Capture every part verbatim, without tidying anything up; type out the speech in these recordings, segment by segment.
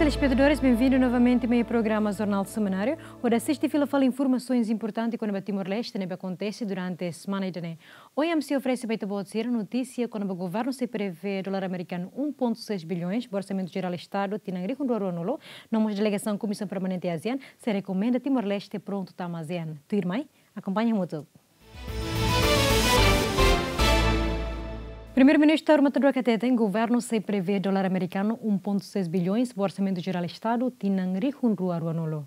Telespetadores, benvindu novamente mai programa Jornál Semanáriu. Hodi asiste fila fali informasaun importante kona-ba Timor-Leste ne'ebé akontese durante semana ida-ne'e. Ohin ami sei oferese ba ita-boot sira notísia kona-ba governu sei prevee dolar amerikanu um ponto seis bilhões ba Orsamentu Jerál Estadu tinan rihun rua ruanulu, no mós delegasaun Komisaun Permanente ASEAN sei rekomenda Timor-Leste prontu tama ASEAN. Tuirmai, akompaña hamutuk. Primeiru-Ministru Taur Matan Ruak hateten governu sei prevee dolar amerikanu um ponto seis bilhões ba Orsamentu Jerál Estadu tinan rihun rua ruanulu.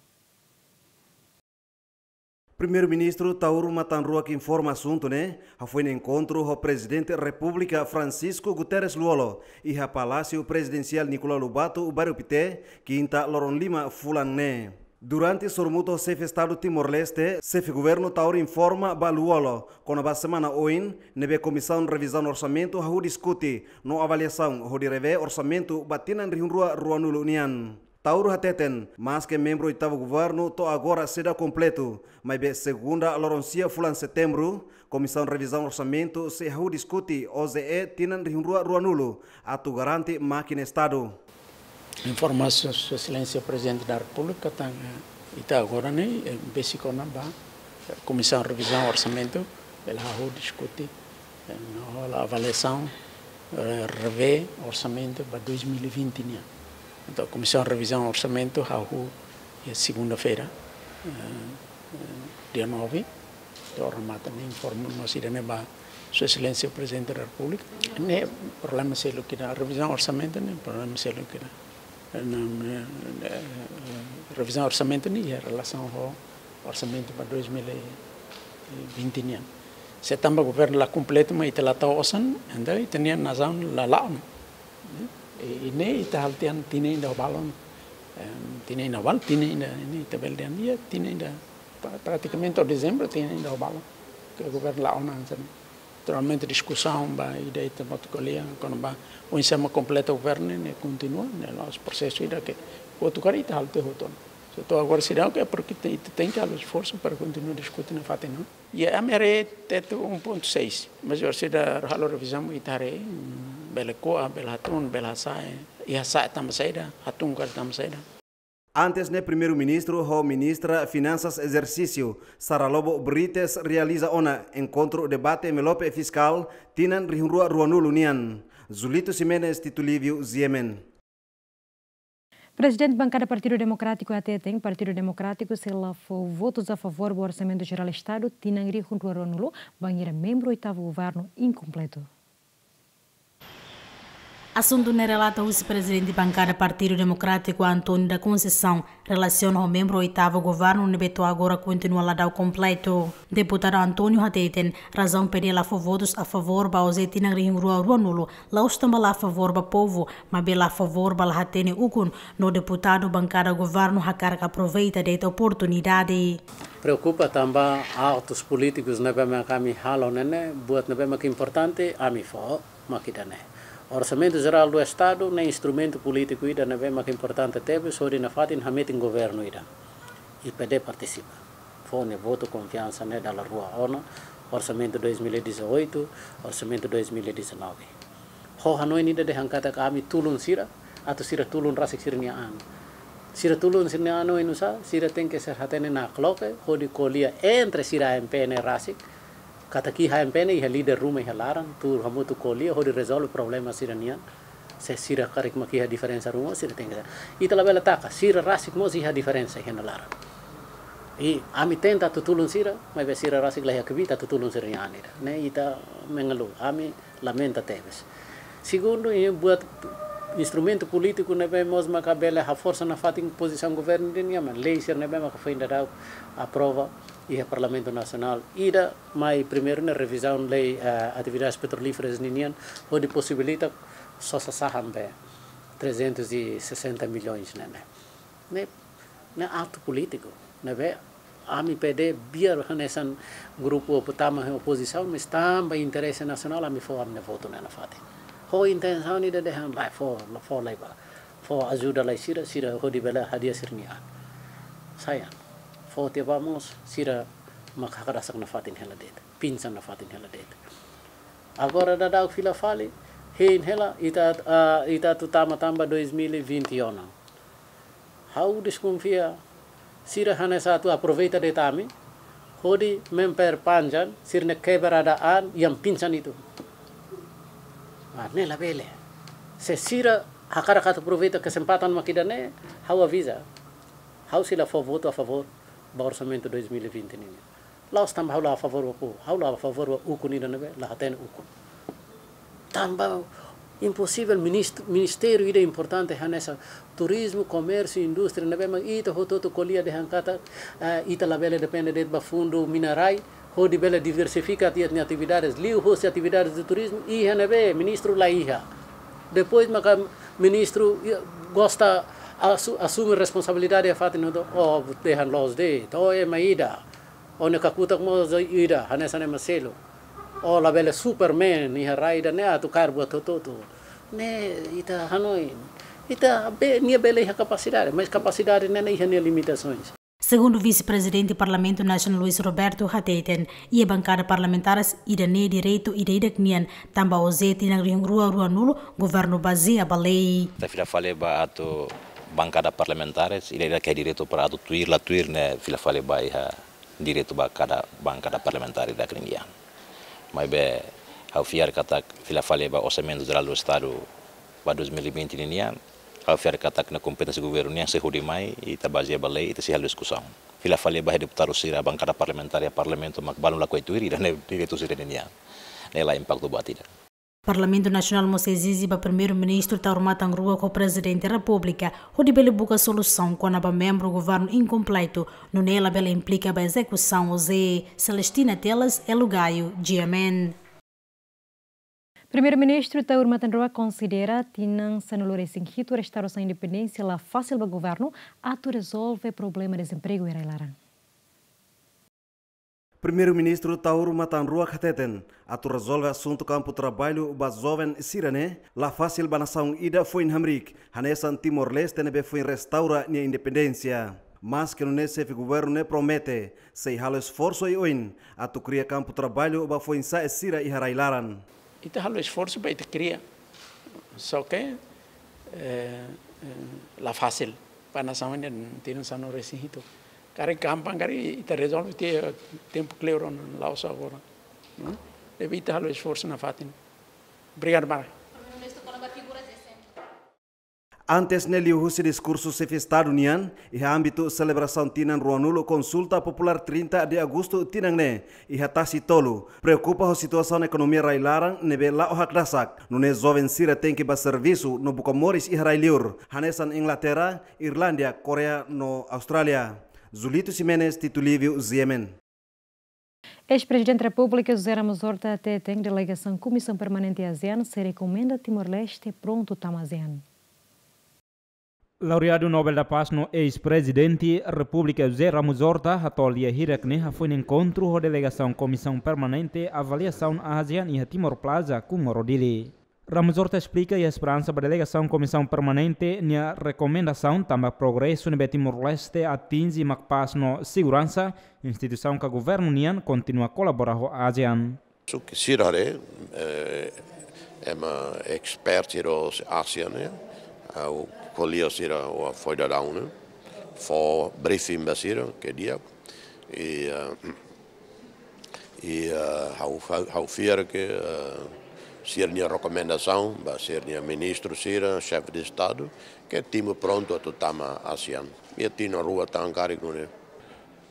Primeiru-Ministru Taur Matan Ruak informa asuntu ne'e hafoin enkontru ho Prezidente Repúblika Francisco Guterres Lú-Olo iha Palásiu Prezidensiál Nicolau Lobato, Bairru Pité, kinta loron lima fulan ne'e. Durante sorumutu ho Xefe Estadu Timor-Leste, Xefe Governu Taur informa ba Lú-Olo kona-ba semana oin ne'ebé Komisaun Revizaun Orsamentu hahú diskute no avaliasaun hodi revee orsamentu ba tinan rihun rua ruanulu nian. Taur hateten, maske membru oitavu governu to'o agora seidauk kompletu, maibé segunda loron sia fulan Setembru, Komisaun Revizaun Orsamentu sei hahú diskute O J E tinan rihun rua ruanulu atu garante mákina Estadu. Informa Sua Exelénsia Prezidente da Repúblika katak, eh, ita agora ne'e, eh, besik ona ba, eh, Komisaun Revizaun Orsamentu, bele hahú diskute, eh, no hola avaliasaun, eh, revee orsamentu ba dois mil e vinte nian. Entaun, Komisaun Revizaun Orsamentu hahú iha segunda-feira, eh, eh, dia nove, to'o remata ne'e informa mós ida-ne'e ba Sua Exelénsia Prezidente da Repúblika. Ne'e problema seluk ida, revizaun orsamentu ne'e problema seluk ida. Eh, na, eh, eh, revizaun orsamentu ne'e iha relasaun ho orsamentu ba dois mil e vinte nian. Se tanba governu la kompletu, maibé ita la tau osan, entaun ita-nia nasaun la la'o ona. I, i ne'e ita halo tiha ona tinan ida ho balun. Em, tinan ida ho balun, tinan ida, ne'e ita bele dehan, iha tinan ida, pra-, pratikamente to'o Dezembru, tinan ida ho balun. Ke governu la'o ona hanesan ne'e. Naturalmente diskusaun ba ida ita mak ko'alia, kona-ba oinsá mak kompleta governu ne'e kontinua, ne'e la'ós prosesu ida ke kotuk karik ita halo tiha hotu ona. Se to'o agora seidauk, é porque te-, ita tenke halo esforsu para kontinua diskute nafatin ne'e. Iha M R E tetu um ponto seis, mas agora sira halo revizaun ita haree, mm, bele ko'a, bele hatún, bele hasa'e, iha sa'e tanba saida, hatún karik tanba saida. Antes ne'e Primeiru-Ministru ho Ministra Finansas ezersísiu, Sara Lobo Brites, realiza ona enkontru debate envelope fiskál tinan rihun rua ruanulu nian. Zulito Ximenes, Tito Lívio, G M N. Prezidente Bankada Partidu Demokrátiku hateten, Partidu Demokrátiku sei la fó votus a favór ba Orsamentu Jerál Estadu tinan rihun rua ruanulu, bainhira membru oitavu governu inkompletu. Asuntu ne'e relata husi Prezidente Bankada Partidu Demokrátiku, António da Conceição, relasiona ho membru oitavu governu ne'ebé to'o agora kontinua la dau kompletu. Deputadu António hateten, razaun P D la fó votus a favór ba O J E tinan rihun rua ruanulu, la'ós tanba la favór ba povu, maibé la favór ba la hatene ukun, no deputadu bankada governu hakarak aproveita de'it oportunidade. Preokupa tanba atus polítikus ne'ebé mak ami halo ne'e, buat ne'ebé mak importante, ami fó, mak ida-ne'e. Orsamentu Jerál do Estadu ne'e instrumentu polítiku ida ne'ebé mak importante tebes, hodi nafatin hametin governu ida. I P D partisipa. Fó nia votu konfiansa ne'e dala rua ona, orsamentu dois mil e dezoito, orsamentu dois mil e dezanove. Ho hanoin ida dehan katak ami tulun sira, atu sira tulun rasik sira-nia an. Sira tulun sira-nia an oinsá, sira tenke ser hatene nakloke, hodi ko'alia entre sira A M P ne'e rasik, katak iha A M P ne'e iha líder ruma iha laran, tuur hamutuk ko'alia, hodi rezolve problema sira-nian. Se sira karik mak iha diferensa ruma, sira tenke. Ita labele taka, sira rasik mós iha diferensa iha nia laran. I ami tenta atu tulun sira, maibé sira rasik la iha kbiit atu tulun sira-nia an ida. Ne'e ita mengeluh, ami lamenta tebes. Segundu, i buat instrumentu polítiku ne'ebé mós maka bele haforsa nafatin pozisaun governu nian, mak lei sira ne'ebé maka foin daudaun aprova iha Parlamentu Nasionál. Ida mai primeiru ne'e revizaun lei, eh, atividades petrolíferas ninian, hodi posibilita sosa saham be trezentos e sessenta milhões ne'e. Ne'e, ne'e atu polítiku, ne'ebé ami P D biar hanesan grupu pertama iha opozisaun, mas tanba interese nasionál ami fó ami-nia votu ne'e nafatin. Ho intensaun ida dehan la fó, la fó lai ba. Fó ajuda lai sira, sira hodi bele hadi'a sira-nia an. Sayang. Fó tiha ba mós, sira mak hakdasak nafatin hela de'it. Pinsan nafatin hela de'it. Agora daudaun fila fali, hein hela, ita, ah, ita atu tama tanba dois mil e vinte e um. Ha'u deskonfia, sira hanesan atu aproveita de'it ami, hodi memperpanjang sira-nia kebrada an yang pincang itu. Ah, ne'e labele. Se sira hakarak atu aproveita kesempatan mak ida-ne'e, ha'u aviza. Ha'u sei la fó votu a favór ba orsamentu dois mil e vinte nian. La'ós tanba ha'u la a favór ba povu, ha'u la a favór ba ukun ida ne'ebé la hatene ukun. Tanba imposivel minist-, ministériu ida importante hanesan turizmu, komérsiu, indústria ne'ebé mak ita hotu-hotu ko'alia dehan katak, eh, ita labele depende de'it ba fundu mina-rai, hodi bele diversifika ita-nia atividades, liuhusi atividades de turizmu, iha ne'ebé ministru la iha. Depois maka ministru, ia, gosta asu-, asume responsabilidade iha fatin hotu, oh, dehan loos de'it, oh, ema ida. Ó-nia kakutak mós ida, hanesan ema seluk. Ó labele Superman iha rai ida-ne'e atu kaer buat hotu-hotu. Ne'e ita hanoin. Ita be, nia bele iha kapasidade, mas kapasidade ne'e iha nia limitasoens. Segundu Vise-Prezidente Parlamentu Nasionál Luis Roberto hateten, iha bankada parlamentares ida-ne'e direitu ida-idak nian, tanba Ozé tinan rihun rua ruanulu governu bazeia ba lei. Ita fila fali ba atu bankada parlamentares, ida-idak iha direitu para atu tuir la tuir ne'e fila fali ba iha direitu ba kada bankada parlamentár ida-idak nian. Maibé ha'u fiar katak fila fali ba Orsamentu Jerál do Estadu ba dois mil e vinte nian, ha'u fiar katak ne'e kompeténsia governu nian, se hodi mai, ita bazeia ba lei, ita sei halo diskusaun. Fila fali ba deputadu sira bankada parlamentár iha parlamentu mak balun lakohi tuir, ida-ne'e direitu sira-nian. Ne'e la impaktu buat ida. Parlamentu Nasionál mós ezije ba Primeiru-Ministru Taur Matan Ruak ho Prezidente Repúblika hodi bele buka solusaun kona-ba membru governu inkompletu, nune'e labele implika ba ezekusaun Ozé. Celestina Teles, Elo Gaio, G M N. Primeiru-Ministru Taur Matan Ruak konsidera tinan sanulu-resin-hitu restaurasaun independénsia la fasil ba governu atu rezolve problema dezempregu iha rai-laran. Primeiru-Ministru Taur Matan Ruak hateten, atu rezolve asuntu kampu traballu ba joven sira-ne'e la fasil ba nasaun ida foin hamriik, hanesan Timor-Leste ne'ebé foin restaura nia independénsia. Maske nune'e xefe governu ne'e promete sei halo esforsu oioin atu kria kampu traballu ba foin-sa'e sira iha rai-laran. Ita halo esforsu ba ita kria. Só ke, eh, eh, la fasil. Ba nasaun ida tinan sanulu-resin-hitu. Karik gampang, karik ita rezolve tiha tempu kleur ona, la'ós agora. Ne'e? Debe ita halo esforsu nafatin. Obrigadu, Mara. Antes ne'e liuhusi diskursu xefe Estadu nian, iha ámbitu selebrasaun tinan ruanulu Konsulta Populár trinta de Agosto tinan ne'e, iha Tasi Tolu, preokupa ho situasaun ekonomia rai-laran ne'ebé la'o hakdasak, nune'e joven sira tenke ba servisu no buka moris iha rai-liur, hanesan Inglaterra, Irlándia, Koreia no Austrália. Julito Ximenes, Tito Lívio, G M N. Eis-Prezidente Repúblika José Ramos Horta hateten delegasaun Komisaun Permanente ASEAN sei rekomenda Timor-Leste prontu tama ASEAN. Laureadu Nobel da Paz no eis-Prezidente Repúblika José Ramos Horta hato'o lia hirak ne'e hafoin enkontru ho delegasaun Komisaun Permanente Avaliasaun ASEAN iha Timor Plaza, Comoro, Dili. Ramos Horta esplika iha esperansa ba delegasaun Komisaun Permanente nia rekomendasaun tanba progresu ne'ebé Timor-Leste atinje mak pás no seguransa, instituisaun ka governu nian kontinua kolabora ho ASEAN. Suk sira haree, eh, ema expert sira ASEAN, eh, ha'u ko'alia sira ho foin daudaun, eh, fó briefing ba sira, ke dia, i, eh, i, eh, ha'u, ha'u, ha'u fiar ke, eh, sira-nia rekomendasaun ba sira-nia ministru sira, xefe de Estadu, ke Timor prontu atu tama ASEAN. Iha tinan rua tan karik nune'e.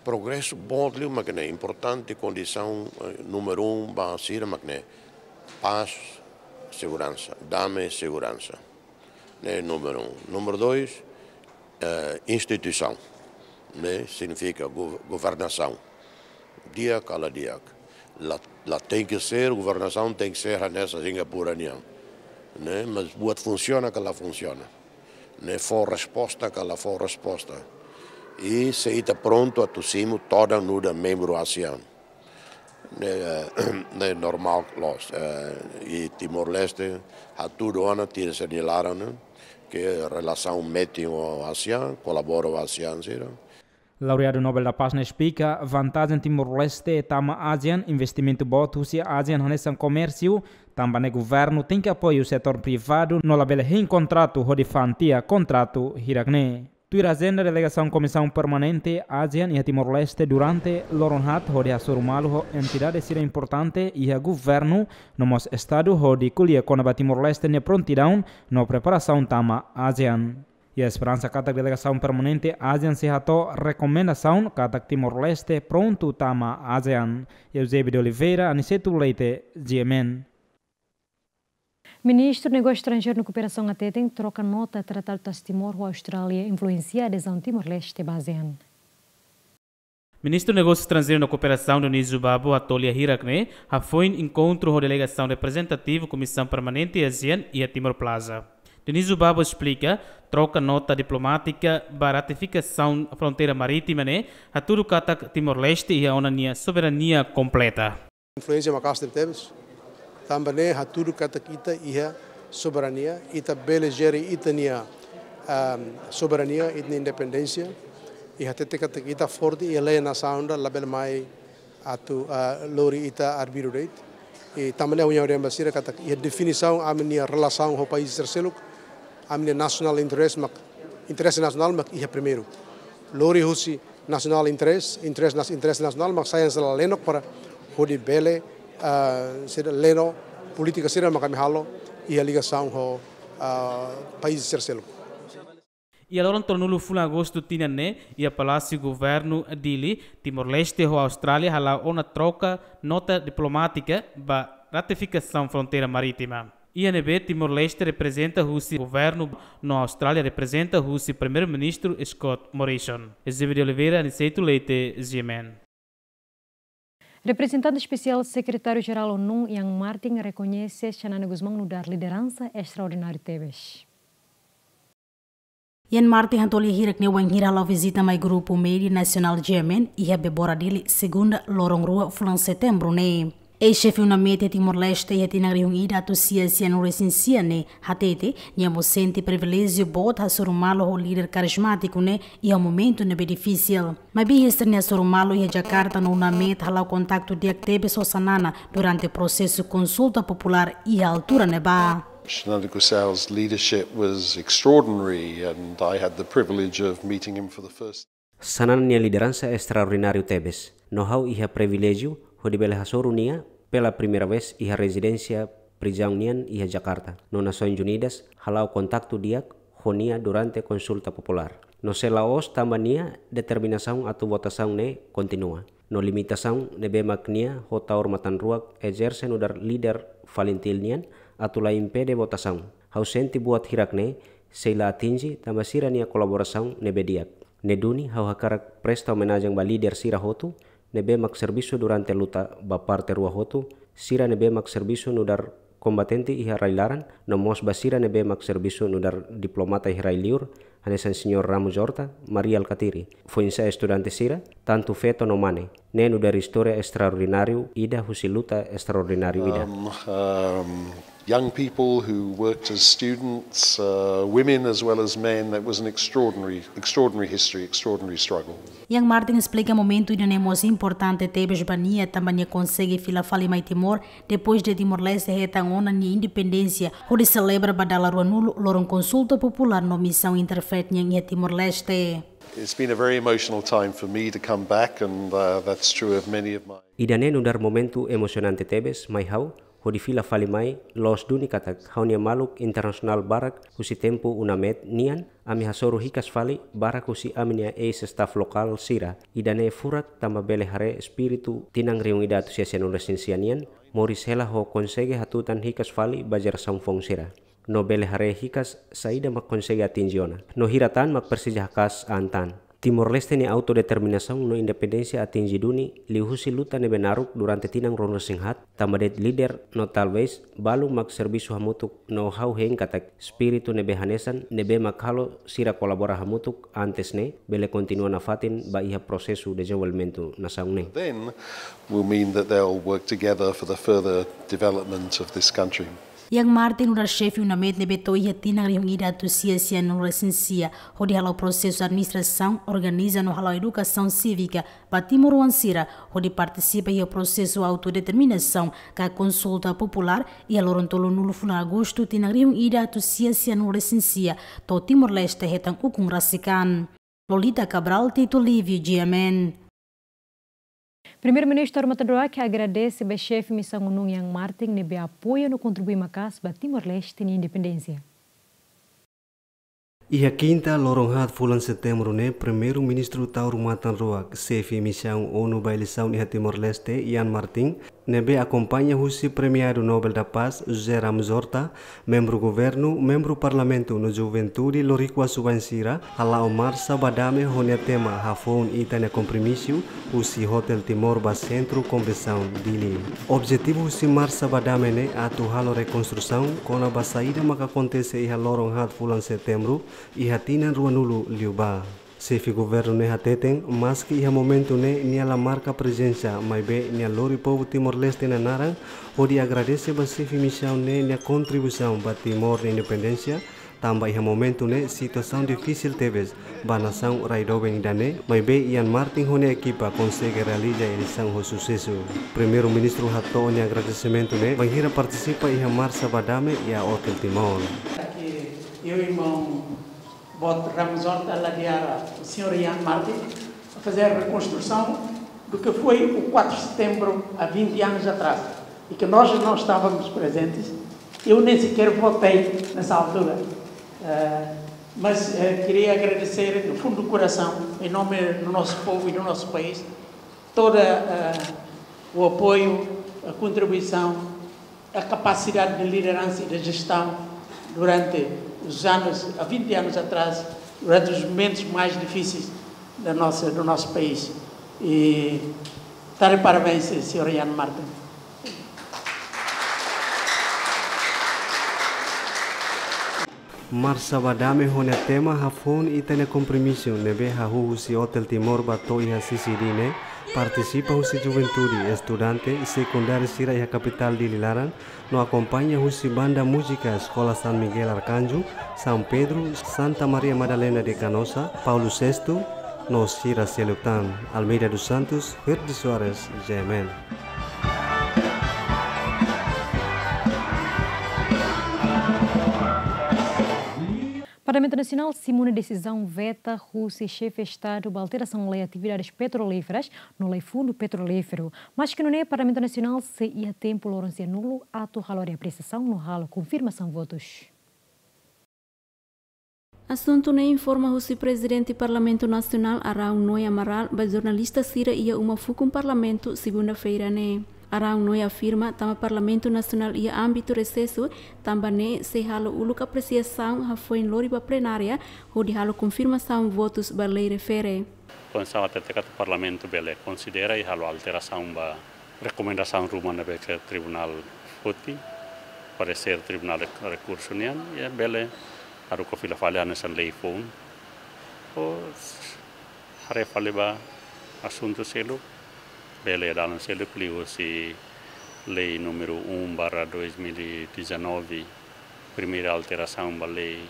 Progresu boot liu mak ne'e, importante kondisaun, eh, númeru um ba sira mak ne'e pás, seguransa, dame, seguransa. Ne'e númeru um. Númeru dois, eh, instituisaun. Ne'e signifika go-, governasaun. Di'ak ka la di'ak. La, la tenke ser, governasaun tenke ser hanesan Singapura nian. Ne'e, mas buat funsiona ka la funsiona. Ne'e, fó resposta ka la fó resposta. I se ita prontu atu simu todan nu'udar membru ASEAN. Ne'e, ne'e normál loos. Eh, i Timor-Leste hatudu ona tiha sira-nia laran, ne'e, ke relasaun metin ho ASEAN, kolabora ho ASEAN sira. Laureadu Nobel da Paz ne'e esplika vantajen Timor-Leste tama ASEAN, investimentu boot husi ASEAN hanesan komérsiu, tanba ne'e governu tenke apoiu setór privadu no labele hein kontratu hodi fa'an tiha kontratu hirak ne'e. Tuir ajenda, delegasaun Komisaun Permanente ASEAN iha Timor-Leste durante loron haat hodi hasoru malu ho entidade sira importante iha governu no mós estadu hodi ko'alia kona-ba Timor-Leste nia prontidaun no preparasaun tama ASEAN. Iha esperansa katak delegasaun permanente ASEAN sei hato'o rekomendasaun katak Timor-Leste prontu tama ASEAN. Eusébio de Oliveira, Aniceto Leite, G M N. Ministru Negósiu Estranjeiru no Kooperasaun hateten troka nota Tratadu Tasi Timor ho Austrália influensia adezaun Timor-Leste ba ASEAN. Ministru Negósiu Estranjeiru no Kooperasaun Dionísio Babo hato'o lia hirak ne'e hafoin enkontru ho delegasaun reprezentativu Komisaun Permanente ASEAN iha Timor Plaza. Dionísio Babo esplika, troka nota diplomátika ba ratifikasaun fronteira marítima ne'e hatudu katak Timor-Leste iha ona nia soberania kompleta. Influénsia maka'as tebes. Tanba ne'e hatudu katak ita iha soberania, ita bele jere ita-nia, ehm, soberania, ita-nia independénsia. I hatete katak ita forte iha lei nasaun ida, labele mai atu, ah, lori ita arbiru de'it. I tanba ne'e ha'u hanoin ba sira katak iha definisaun ami-nia relasaun ho país terseiruk, ami-nia national interest mak, interese nasionál mak iha primeiru. Lori husi national interest, interest nas-, interese nasionál mak sai hanesan lenok para hodi bele, ah, sira leno polítika sira mak ami halo iha ligasaun ho, ah, país terseiruk. Iha loron tolunulu fulan Agostu tinan ne'e, iha Palásiu Governu Dili, Timor-Leste ho Austrália hala'o ona troka nota diplomátika ba ratifikasaun fronteira marítima. Iha ne'ebé Timor-Leste reprezenta husi governu no Austrália reprezenta husi Primeiru-Ministru Scott Morrison. Eusébio de Oliveira, Aniceto Leite, G M N. Reprezentante Espesiál Sekretáriu-Jerál ONU, Ian Martin, rekoñese Xanana Gusmão nu'udar lideransa estraordináriu tebes. Ian Martin hato'o lia hirak ne'e wainhira hala'o vizita mai grupu média nasionál G M N iha Bebora Dili, segunda, loron rua fulan Setembru ne'e. Eis-xefe UNAMET iha Timor-Leste iha tinan rihun ida atus sia sianulu-resin-sia ne'e hatete, nia mós sente priviléjiu boot hasoru malu ho líder karizmátiku ne'e iha momentu ne'ebé difisil. Maibé iha sira-nia hasoru malu iha Jakarta no UNAMET hala'o kontaktu di'ak tebes ho Xanana durante prosesu konsulta populár iha altura ne'ebá. Xanana Gusmão's leadership was extraordinary, and I had the privilege of meeting him for the first. Xanana nia lideransa estraordináriu tebes. No ha'u iha priviléjiu hodi bele hasoru nia pela primeira vez iha rezidénsia prizaun nian iha Jakarta. No Nasoins Unidas hala'o kontaktu di'ak ho nia durante konsulta populár. No sei la'ós tanba nia determinasaun atu votasaun ne'e kontinua. No limitasaun ne'ebé mak nia ho taur matan-ruak ezerse nu'udar líder FALINTIL nian atu la impede votasaun. Ha'u sente buat hirak ne'e sei la atinje tanba sira-nia kolaborasaun ne'ebé di'ak. Ne'e duni ha'u hakarak presta omenajen ba líder sira hotu ne'ebé mak servisu durante luta ba parte rua hotu, sira ne'ebé mak servisu nu'udar kombatente iha rai-laran, no mós ba sira ne'ebé mak servisu nu'udar diplomata iha rai-liur, hanesan Señór Ramos Horta, Mari Alkatiri. Foin-sa'e estudante sira, tantu feto no mane, ne'e nu'udar istória estraordináriu ida husi luta estraordináriu ida. Um, um, young people who worked as students, uh, women as well as men, that was an extraordinary, extraordinary history, extraordinary struggle. Ian Martin esplika momentu ida-ne'e mós importante tebes ba nia, tanba nia konsege fila fali mai Timor, depois de Timor-Leste hetan ona nia independénsia, hodi selebra ba dala ruanulu loron konsulta populár no misaun Interfaith nian iha Timor-Leste. It's been a very emotional time for me to come back, and, uh, that's true of many of my. Ida-ne'e nu'udar momentu emosionante tebes mai ha'u, hodi fila fali mai, loos duni katak ha'u-nia maluk internasionál barak husi tempu UNAMET nian, ami hasoru hikas fali barak husi ami-nia eis-staff lokál sira. Ida-ne'e furak tanba bele haree espíritu tinan rihun ida atus sia sianulu-resin-sia nian, moris hela ho konsege hatutan hikas fali ba jerasaun foun sira. No bele haree hikas saida mak konsege atinje ona, no hira tan mak presiza haka'as an tan. Timor-Leste nia autodeterminasaun no independénsia atinje duni liuhusi luta ne'ebé naruk durante tinan ruanulu-resin-haat, tanba de'it líder no talvés balu mak servisu hamutuk no ha'u hein katak espíritu ne'ebé hanesan ne'ebé mak halo sira kolabora hamutuk antes ne'e bele kontinua nafatin ba iha prosesu dezenvolvimentu nasaun ne'e. Then will mean that they'll work together for the further development of this country. Ian Martin nu'udar xefe UNAMET ne'ebé to'o iha tinan rihun ida atus sia sianulu resin sia, hodi hala'o prosesu administrasaun, organiza no hala'o edukasaun sívika ba timoroan sira, hodi partisipa iha prosesu autodeterminasaun ka konsulta populár iha loron tolunulu fulan Agostu tinan rihun ida atus sia sianulu resin sia, to'o Timor-Leste hetan ukun rasik an. Lolita Cabral, Tito Livio, G M N. Primeiru-Ministru Armatan Roak agradese ba xefe misaun ONU Ian Martin ne'ebé apoia no kontribui maka'as ba Timor-Leste nia independénsia. Iha kinta, loron haat fulan Setembru ne'e, Primeiru-Ministru Taur Matan Ruak, xefe misaun ONU ba eleisaun iha Timor-Leste, Ian Martin, ne'ebé akompaña husi premiadu Nobel da Paz, José Ramos-Horta, membru governu, membru parlamentu no juventude loriku asubain sira, hala'o marsa ba dame ho nia tema Hafoun Ita-nia Kompromisu, husi Hotel Timor ba Sentru Konvensaun, Dili. Objetivu husi marsa ba dame ne'e atu halo rekonstrusaun kona-ba saida maka akontese iha loron haat fulan Setembru iha tinan ruanulu liubá. Xefe governu ne'e hateten, maski iha momentu ne'e nia la marka prezensa, maibé nia lori povu Timor-Leste nia naran, hodi agradese ba xefe misaun ne'e nia kontribuisaun ba Timor nia independénsia, tanba iha momentu ne'e situasaun difisil tebes ba nasaun rai doben ida-ne'e, maibé Ian Martin ho nia ekipa konsege realiza eleisaun ho susesu. Primeiru-Ministru hato'o nia agradesimentu ne'e bainhira partisipa iha marsa ba dame iha Hotel Timor. Aqui, eu, irmão Boot Ramos-Horta, a ladear o senhor Ian Martin a fazer a reconstrução do que foi o quatro de setembro há vinte anos atrás e que nós não estávamos presentes. Eu nem sequer votei nessa altura. Eh, mas, eh, queria agradecer do fundo do coração, em nome do nosso povo e do nosso país, todo, eh, o apoio, a contribuição, a capacidade de liderança e de gestão durante os anos, há vinte anos atrás, durante os momentos mais difíceis da nossa, do nosso país. E está de parabéns, senhor Ian Martin. Marsa ba dame ho nia tema Hafoun Ita-nia Kompromisu ne'ebé hahú husi Hotel Timor ba to'o iha C C D ne'e, partisipa husi juventude, estudante, sekundáriu sira iha kapitál Dili laran, no akompaña husi banda múzika Eskola San Miguel Arkanju, San Pedro, Santa Maria Madalena de Canossa, Paulo sestu, no sira seluk tan. Almeida dos Santos, Verde Soares, G M N. Parlamentu Nasionál simu ona desizaun veta husi Xefe Estadu ba alterasaun lei atividades petrolíferas no lei fundu petrolíferu. Maski nune'e, Parlamentu Nasionál sei iha tempu loron sianulu atu halo reapresiasaun no halo konfirmasaun votus. Asuntu ne'e informa husi Prezidente Parlamentu Nasionál, Araújo Noé Amaral, ba jornalista sira iha uma fukun Parlamentu, segunda-feira ne'e. Araújo Noé afirma, tanba Parlamentu Nasionál iha ámbitu resesu, tanba ne'e sei halo uluk apresiasaun hafoin lori ba plenária, hodi halo konfirmasaun votus ba lei refere. Konstituisaun hatete katak Parlamentu bele konsidera i halo alterasaun ba rekomendasaun ruma ne'ebé ke Tribunál foti, paresér Tribunál Rek-, Rekursu nian, i bele haruka fila fali hanesan lei foun. Ou haree fali ba asuntu seluk, bele dalan seluk liuhusi lei númeru um barra dois mil e dezanove, primeira alterasaun ba lei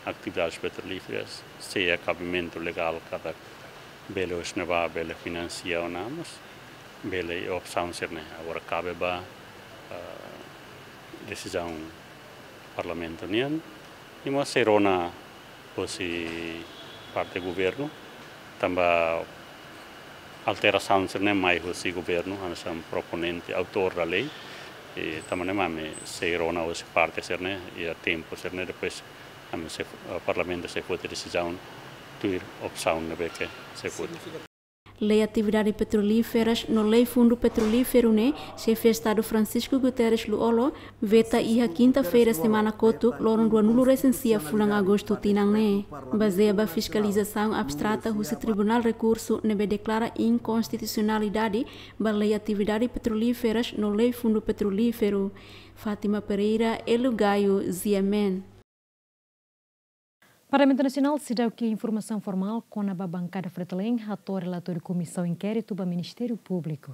atividades petrolíferas, sei iha kabimentu legál katak bele husi ne'ebá, bele finansia ona, mas bele opsaun sira-ne'e. Agora kabe ba, ah, desizaun Parlamentu nian, i mós sei rona husi parte governu, tanba alterasaun sira-ne'e mai husi governu, hanesan proponente, autór da lei, i tanba ne'e mak ami sei rona husi parte sira-ne'e, iha tempu sira-ne'e, depois ami sei, eh, Parlamentu sei foti desizaun tuir opsaun ne'ebé ke sei foti. Lei atividade petrolíferas no lei fundu petrolíferu ne'e, Xefe Estadu Francisco Guterres Lú-Olo veta iha kinta-feira semana kotuk, loron ruanulu resin sia fulan Agostu tinan ne'e. Bazeia ba fiskalizasaun abstrata husi Tribunál Rekursu ne'ebé deklara inkonstitusionalidade ba lei atividade petrolíferas no lei fundu petrolíferu. Fátima Pereira, Elo Gayo, G M N. Parlamentu Nasionál seidauk iha informasaun formál kona-ba bankada Fretilin hato'o relatóriu Komisaun Inkéritu ba Ministériu Públiku.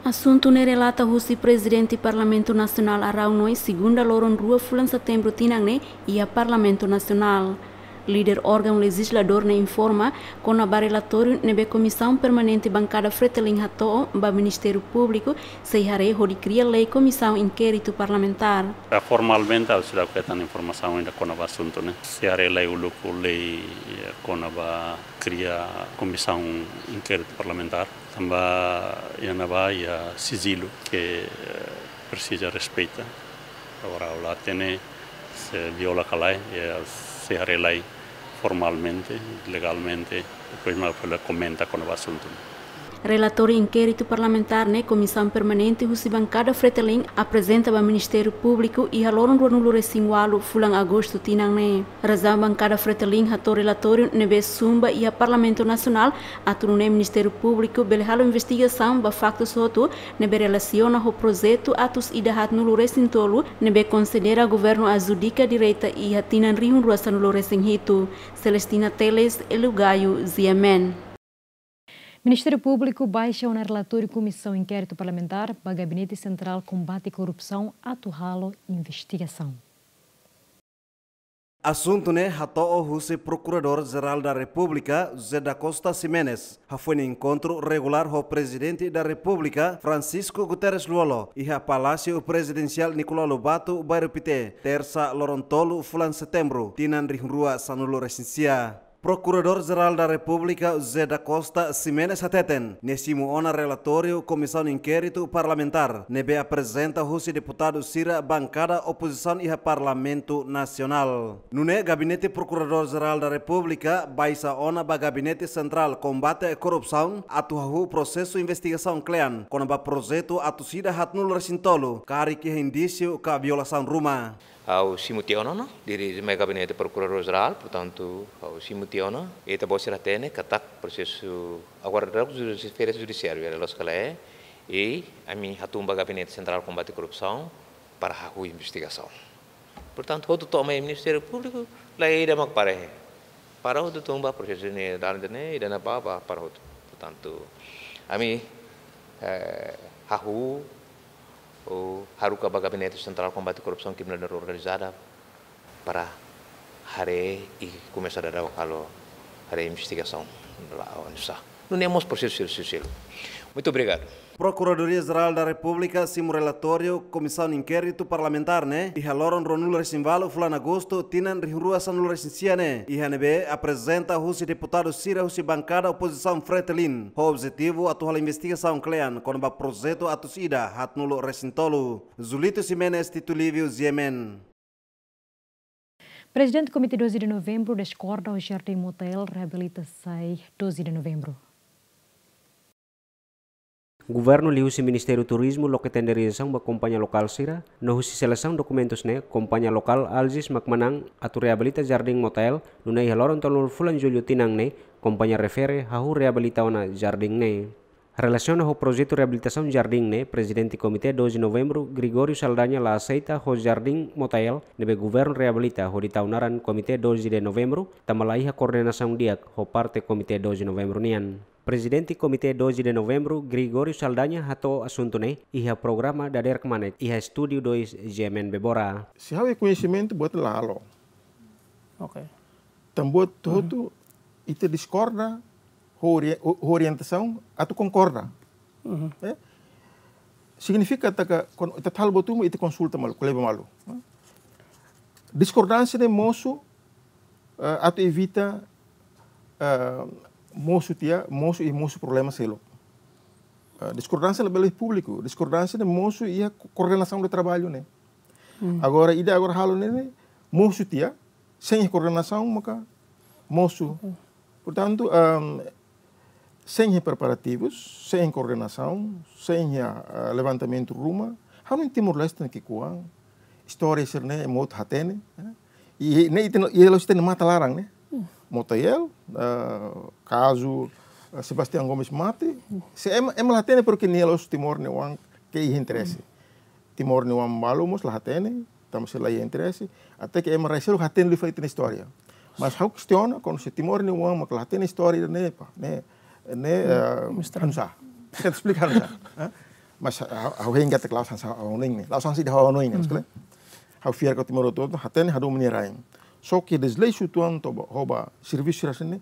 Asuntu ne'e relata husi Prezidente Parlamentu Nasionál Araunoi, segunda loron rua fulan Setembru tinan ne'e, iha Parlamentu Nasionál. Líder órgaun lejizladór ne'e informa kona-ba relatóriu ne'ebé Komisaun Permanente Bankada Fretilin hato'o ba Ministériu Públiku, sei haree hodi kria lei Komisaun Inkéritu Parlamentár. Formalmente, ha'u seidauk hetan informasaun ida kona-ba asuntu ne'e. Sei haree lai uluk lei, eh, kona-ba kria Komisaun Inkéritu Parlamentár. Tanba iha ne'ebá iha sijilu ke, eh, presiza respeita. Agora, ha'u la hatene se viola ka lae, eh, sei haree lai formalmente, legalmente, depois mak ha'u bele komenta kona-ba asuntu ne'e. Relatóriu inkéritu parlamentár ne'e Komisaun Permanente husi Bankada Fretilin aprezenta ba Ministériu Públiku iha loron ruanulu-resin-ualu fulan Agostu tinan ne'e. Razaun Bankada Fretilin hato'o relatóriu ne'ebé sun ba iha Parlamentu Nasionál, atu nune'e Ministériu Públiku bele halo investigasaun ba faktus hotu ne'ebé relasiona ho projetu atus ida haatnulu-resin-tolu ne'ebé konsidera governu ajudika direta iha tinan rihun rua sanulu-resin-hitu. Celestina Teles, Elugaio, G M N. Ministériu Públiku baixa ona relatóriu Komisaun Inkéritu Parlamentár ba Gabinete Sentrál Kombate Korrupsaun atu halo investigasaun. Asuntu ne'e hato'o husi Prokuradór Jerál da Repúblika, José da Costa Ximenes, hafoin enkontru regulár ho Prezidente da Repúblika, Francisco Guterres Lú-Olo, iha Palásiu Prezidensiál Nicolau Lobato, Bairru Pité, Tersa, loron tolu fulan Setembru, tinan rihun rua sanulu-resin-sia. Prokuradór Jerál da Repúblika, José da Costa Ximenes hateten, nia simu ona relatóriu Komisaun Inkéritu Parlamentár ne'ebé aprezenta husi deputadu sira bankada opozisaun iha Parlamentu Nasionál. Nune'e Gabinete Prokuradór Jerál da Repúblika baixa ona ba Gabinete Sentrál Kombate Korrupsaun atu hahú prosesu investigasaun kle'an kona-ba projetu atus ida haatnulu-resin-tolu, karik iha indísiu ka violasaun ruma. Ha'u simu tiha ona, dirije mai Gabinete Prokuradór Jerál, portantu, ha'u simu tiha ona. Ita-boot sira hatene katak prosesu agora daudaun judi-, esfera judisiáriu, iha loloos ka lae, i ami hatún ba Gabinete Sentrál Kombate Korrupsaun para hahú investigasaun. Portantu, hotu to'o mai Ministériu Públiku, la iha ida mak para iha. Para hotu tun ba prosesu ne'e, dala ida-ne'e, ida-ne'ebá, ba para hotu. Portantu, ami, eh, hahú, ou haruka ba Gabinete Sentrál Kombate Korrupsaun, Kriminalidade Organizada, para haree i komesa daudaun halo haree investigasaun la oinsá. Nune'e mós prosesu sira seluk. Muito obrigado. Prokuradoria Jerál da Repúblika simu relatóriu Komisaun Inkéritu Parlamentár ne'e iha loron ruanulu-resin-ualu fulan Agostu tinan rihun rua sanulu-resin-sia ne'e, iha ne'ebé aprezenta husi deputadu sira husi bankada opozisaun Fretilin, ho objetivu atu halo investigasaun kle'an kona-ba projetu atus ida haatnulu-resin-tolu. Julito Ximenes, Tito Lívio, G M N. Prezidente Komité doze de Novembru diskorda ho Jardín Motael reabilita sai doze de Novembru. Governu liuhusi Ministériu Turizmu loke tenderizasaun ba kompañia lokál sira, no husi selesaun dokumentus ne'e, kompañia lokál Algis mak manán atu reabilita Jardín Motael, nune'e iha loron tolunulu fulan Jullu tinan ne'e, kompañia refere hahú reabilita ona jardín ne'e. Relasiona ho projetu reabilitasaun jardín ne'e, Prezidente Komité doze Novembru, Gregório Saldanha la aseita ho Jardín Motael ne'ebé governu reabilita hodi tau naran Komité doze de Novembru, tanba la iha koordenasaun di'ak ho parte Komité doze Novembru nian. Prezidente Komité doze de Novembru, Gregório Saldanha, hato'o asuntu ne'e iha programa Dader Kmanek iha Estúdiu dois G M N Bebora. Se ha'u iha koñesimentu, buat la halo. Oke. Tanba buat hotu ita diskorda, ho ori-, ho orientasaun atu konkorda. Mhm. Eh? Signifika katak, kuandu ita halo buat ruma, ita konsulta malu, ko'alia ba malu. Diskordánsia ne'e mosu, eh, atu evita, eh, mosu tiha, mosu i mosu problema seluk. Eh, diskordánsia labele públiku, diskordánsia ne'e mosu iha ko-, koordenasaun de traballu ne'e. Hmm. Agora, ida agora halo ne'e, ne'e mosu tiha, sein koordenasaun maka mosu. Hmm. Portantu, ehm, sein preparativus, sein koordenasaun, sein, eh, levantamentu ruma, ha'u hanoin Timor-Leste ne'e ki'ikoan, istória sira-ne'e ema hotu hatene, eh. I ne'e ita no, i la'ós ita-nia matan laran ne'e. Hmm. Motael, eh, kazu, eh, Sebastião Gomes mate, hmm, se ema, ema la hatene porke nia la'ós Timor nia oan ke iha interese. Hmm. Timor nia oan balu mós la hatene, tanba sira la iha interese, até ke ema rai seluk hatene liu fali ita-nia istória. Mas ha'u kestiona, kuandu se Timor nia oan mak la hatene istória ne'e, pá, ne'e, ne'e, hmm, eh, mistério. Hanusá. Sei esplika hanusá, eh? Mas ha'u, ha'u hein katak la'ós hanesan ha'u hanoin ne'e. La'ós hanesan ida ha'u hanoin ne'e, maibé ha'u fiar katak Timor hotu-hotu hatene hadomi nia rain. Só ke deslei uitoan to'o ba, ho ba servisu sira-ne'e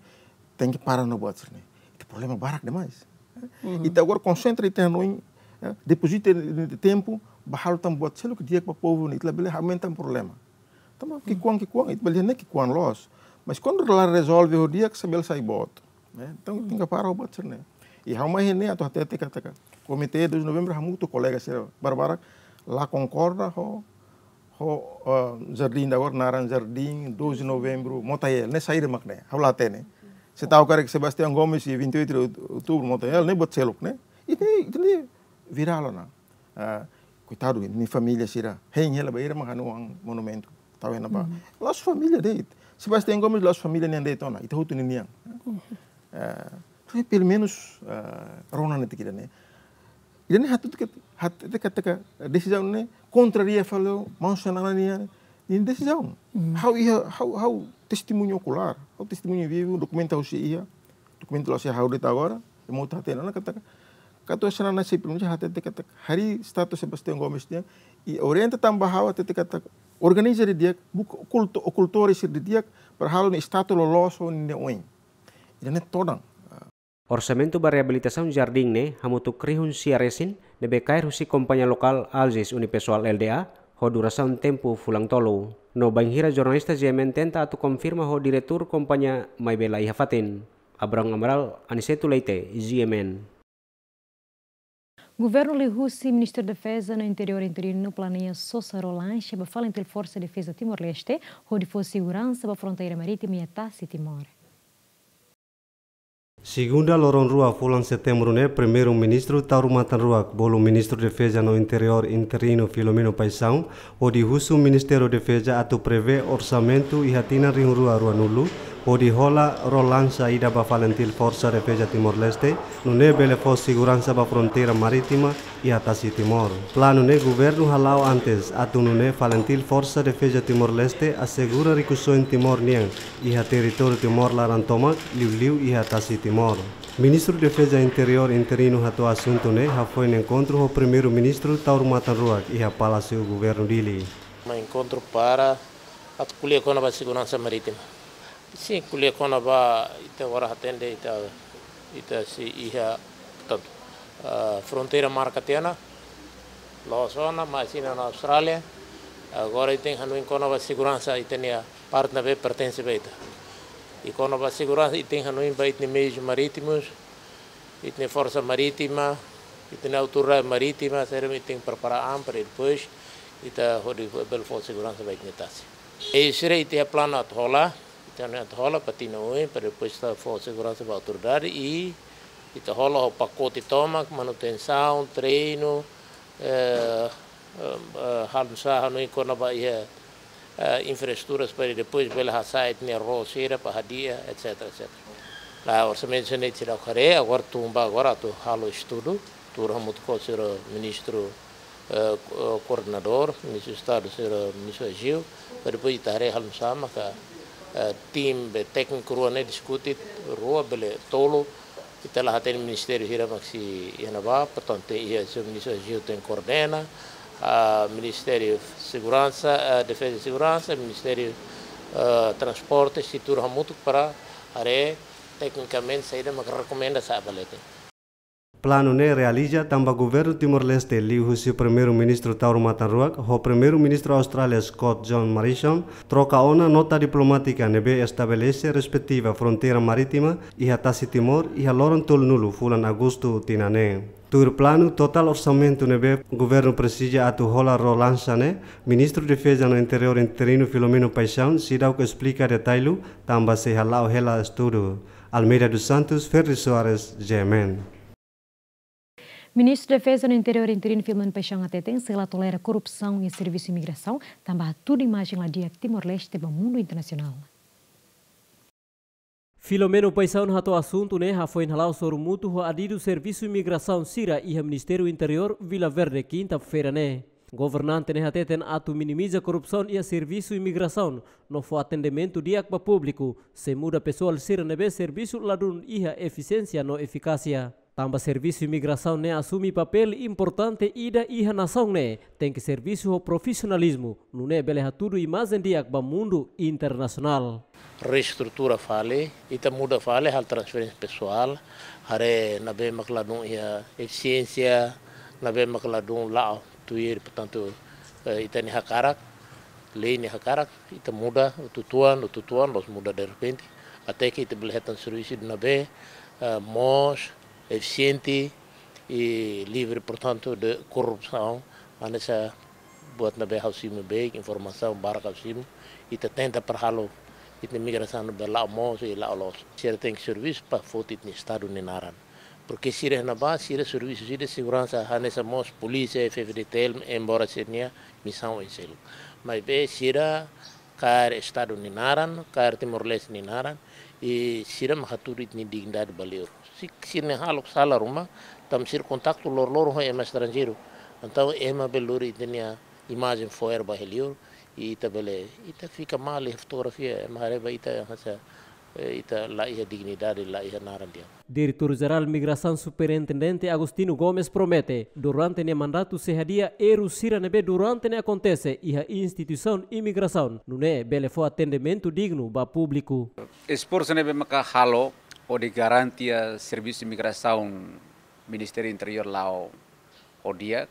tenke para ona buat sira-ne'e. Ita problema barak demais. Ita agora konsentra ita-nia hanoin, eh, depozita ita-nia tempu ba halo tan buat seluk ke di'ak ba povu ne'e, ita labele aumenta problema. Tanba ki'ikoan, ki'ikoan, ita bele dehan ne'e ki'ikoan loos. Mas kuandu la rezolve ho di'ak, sei bele sai boot. Ne'e? Entaun, tenke para ho buat sira-ne'e. I ha'u mai iha ne'e atu hatete katak Komité doze de Novembru hamutuk ho kolega sira barbarak la konkorda ho, ho, eh, jardín ida agora naran Jardín doze de Novembru Motael. Ne'e saida mak ne'e? Ha'u la hatene. Se ta'uk karik Sebastião Gomes iha vinte e oito de Outubru Motael, ne'e buat seluk ne'e. Ita, ita-nia virál ona. Ah, koitadu, nia família sira. Hein hela ba ira mak hanoin monumentu. Tau iha ne'ebá. La'ós família de'it. Sebastião Gomes la'ós família nian de'it ona. Ita hotu ninian. Eh, tapi pelumenus, eh, rona netik ida-ne'e. Ida-ne'e hatete katak, hatete katak desizaun ne'e kontraria fali ho maun Xanana nia, nia desizaun. Ha'u iha, ha'u, ha'u testemuña okulár, ha'u testemuña vivu, dokumentu ha'u sei iha, dokumentu la'ós iha ha'u de'it agora, ema hotu hatene ona katak, katak Xanana sei pronuncia hatete katak harii estátua Sebastião Gomes nian, i orienta tan ba ha'u hatete katak organiza didi'ak, buka okulto-, okultór sira didi'ak, para halo nia estátua loloos ho nia oin. Ida-ne'e todan. Orsamentu ba reabilitasaun jardín ne'e hamutuk rihun sia resin, ne'ebé kaer husi kompañia lokál Algis Unipessoal Lda, ho durasaun tempu fulan tolu. No bainhira jornalista G M N tenta atu konfirma ho diretór kompañia maibé la iha fatin. Abrão Amaral, Aniceto Leite, G M N. Governu liuhusi Ministru Defeza no Interiór interinu planeia sosa ró-lanxa ba FALINTIL Forsa Defeza Timor-Leste, hodi fó seguransa ba fronteira marítima iha tasi Timor. Segunda loron rua fulan Setembru ne'e, Primeiru-Ministru Taur Matan Ruak, bolu Ministru Defeza no Interiór interinu Filomeno Paixão, hodi husu Ministériu Defeza atu prevee orsamentu iha tinan rihun rua ruanulu, hodi hola ró-lanxa ida ba FALINTIL Forsa Defeza Timor-Leste, nune'e bele fó seguransa ba fronteira marítima iha tasi Timor. Planu ne'e governu hala'o antes, atu nune'e FALINTIL Forsa Defeza Timor-Leste asegura rikusoin Timor nian iha territóriu Timor laran tomak, liuliu iha tasi Timor. Ministru Defeza Interiór interinu hato'o asuntu ne'e hafoin enkontru ho Primeiru-Ministru Taur Matan Ruak iha Palásiu Governu Dili. Mai enkontru para atu ko'alia kona-ba seguransa marítima. Sin, ko'alia kona-ba ita agora hatene ita, ita sei iha, portantu, ah, fronteira marka tiha ona, loos ona, mas iha ona Austrália. Agora ita tenke hanoin kona-ba seguransa ita-nia parte ne'ebé pertense ba ita. I kona-ba seguransa ita tenke hanoin ba ita-nia meius marítimus, ita-nia forsa marítima, ita-nia autoridade marítima, sira ita tenke prepara an para depois ita hodi bele fó seguransa ba ita-nia tasi. I sira ita iha planu atu hola, ita hanoin atu hola, para tinan oin, para depois ita fó seguransa ba autoridade, i ita hola ho pakote tomak, manutensaun, treinu, eh, eh, eh, halo nusá hanoin kona-ba iha, eh, infraestruturas para depois bele hasa'e ita-nia ró sira para hadi'a, et cetera, et cetera. Nah, orsamentu sira-ne'e seidauk haree, agora tun ba agora atu halo estudu, tuur hamutuk ho sira ministru, eh, ko-, koordenadór, Ministru Estadu, sira Ministru Aziu, para depois ita haree halo nusá maka, eh, tim be tékniku rua ne'e diskute, rua bele tolu, ita la hatene ministériu hira mak sei iha ne'ebá, portantu iha sira Ministru Aziu tenke koordena, ah, Ministériu Seguransa, ah, Defeza e Seguransa, Ministériu, ah, Transporte, sei tuur hamutuk para haree teknikamente saida mak rekomenda sa'e ba leten. Planu ne'e realiza tanba Governu Timor-Leste liuhusi Primeiru-Ministru Taur Matan Ruak ho Primeiru-Ministru Austrália Scott John Morrison troka ona nota diplomátika ne'ebé estabelese respetiva fronteira marítima iha tasi Timor iha loron tolunulu fulan Agostu tinan ne'e. Tuir planu, totál orsamentu ne'ebé governu presiza atu hola ró-lanxa ne'e, Ministru Defeza no Interiór interinu Filomeno Paixão seidauk esplika detalle tanba sei hala'o hela estudu. Almeida dos Santos, Ferdi Soares, G M N. Ministru Defeza no Interiór interinu Filomeno Paixão hateten sei la tolera korrupsaun iha servisu imigrasaun, tanba hatudu imajen la di'ak Timor-Leste ba mundu internasionál. Filomeno Paixão hato'o asuntu ne'e hafoin hala'o sorumutu ho adidu servisu imigrasaun sira iha Ministériu Interiór, Vila Verde, kinta-feira ne'e. Governante ne'e hateten atu minimiza korrupsaun iha servisu imigrasaun, no fó atendimentu di'ak ba públiku, sei muda pesoál sira ne'ebé servisu ladún iha efisiénsia no efikásia. Tanba servisu imigrasaun ne'e asume papél importante ida iha nasaun ne'e, tenke servisu ho profisionalizmu, nune'e bele hatudu imajen di'ak ba mundu internasionál. Reestrutura fali, ita muda fali halo transferénsia pesoál, haree ne'ebé mak ladún iha efisiénsia, ne'ebé mak ladún la'o tuir, portantu, eh, ita-nia hakarak, lei nia hakarak, ita muda, ututuan, ututuan, la'ós muda derrepente, até ke ita bele hetan servisu ida ne'ebé, eh, moos, efisiente i livre, portantu, de korrupsaun, hanesan buat ne'ebé ha'u simu beibeik, informasaun barak ha'u simu, ita tenta para halo, ita imigrasaun ne'ebé la'o moos i la'o loos. Sira tenke servisu para foti ita-nia Estadu nia naran. Porke sira iha ne'ebá, sira servisu sira seguransa, hanesan mós polísia, F-FDTL, embora sira-nia misaun oin seluk. Maibé sira kaer Estadu nia naran, kaer Timor-Leste nia naran, i sira mak hatudu ita-nia dignidade ba liur. Se sira-nia halo sala ruma, tanba sira kontaktu loroloron ho ema estranjeiru. Entaun ema bele lori ita-nia imajen fo'er ba iha liur, i ita bele, ita fika malu iha fotografia, ema haree ba ita hanesan, eh, ita la iha dignidade, la iha naran di'ak. Diretór Jerál Migrasaun Superintendente Agostinho Gomes promete, durante nia mandatu sei hadi'a erru sira ne'ebé durante ne'e akontese iha instituisaun imigrasaun, nune'e bele fó atendimentu dignu ba públiku. Esforsu ne'ebé maka halo hodi garantia servisu imigrasaun Ministériu Interiór la'o ho di'ak,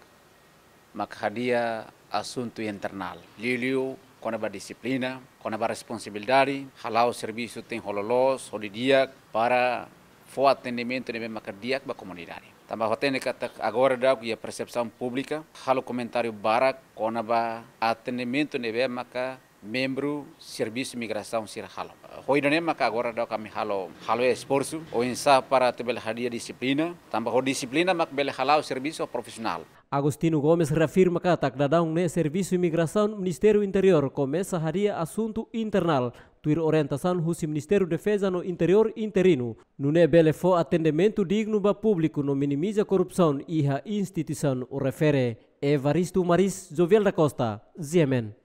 maka hadi'a asuntu internál. Liuliu kona-ba dixiplina, kona-ba responsabilidade, hala'o servisu tenke ho loloos, ho di'ak, para fó atendimentu ne'ebé maka di'ak ba komunidade. Tanba hatene katak agora daudaun iha persepsaun públika, halo komentáriu barak kona-ba atendimentu ne'ebé maka membru servisu migrasaun sira halo. Ho ida-ne'e maka agora daudaun ami halo, halo esforsu, oinsá para atu bele hadi'a dixiplina, tanba ho dixiplina mak bele hala'o servisu profisionál. Agostinho Gomes reafirma katak daudaun ne'e servisu imigrasaun Ministériu Interiór komesa hadi'a asuntu internál, tuir orientasaun husi Ministériu Defeza no Interiór interinu, nune'e bele fó atendimentu dignu ba públiku no minimiza korrupsaun iha instituisaun refere. Evaristo Maris, Jovial da Costa, G M N.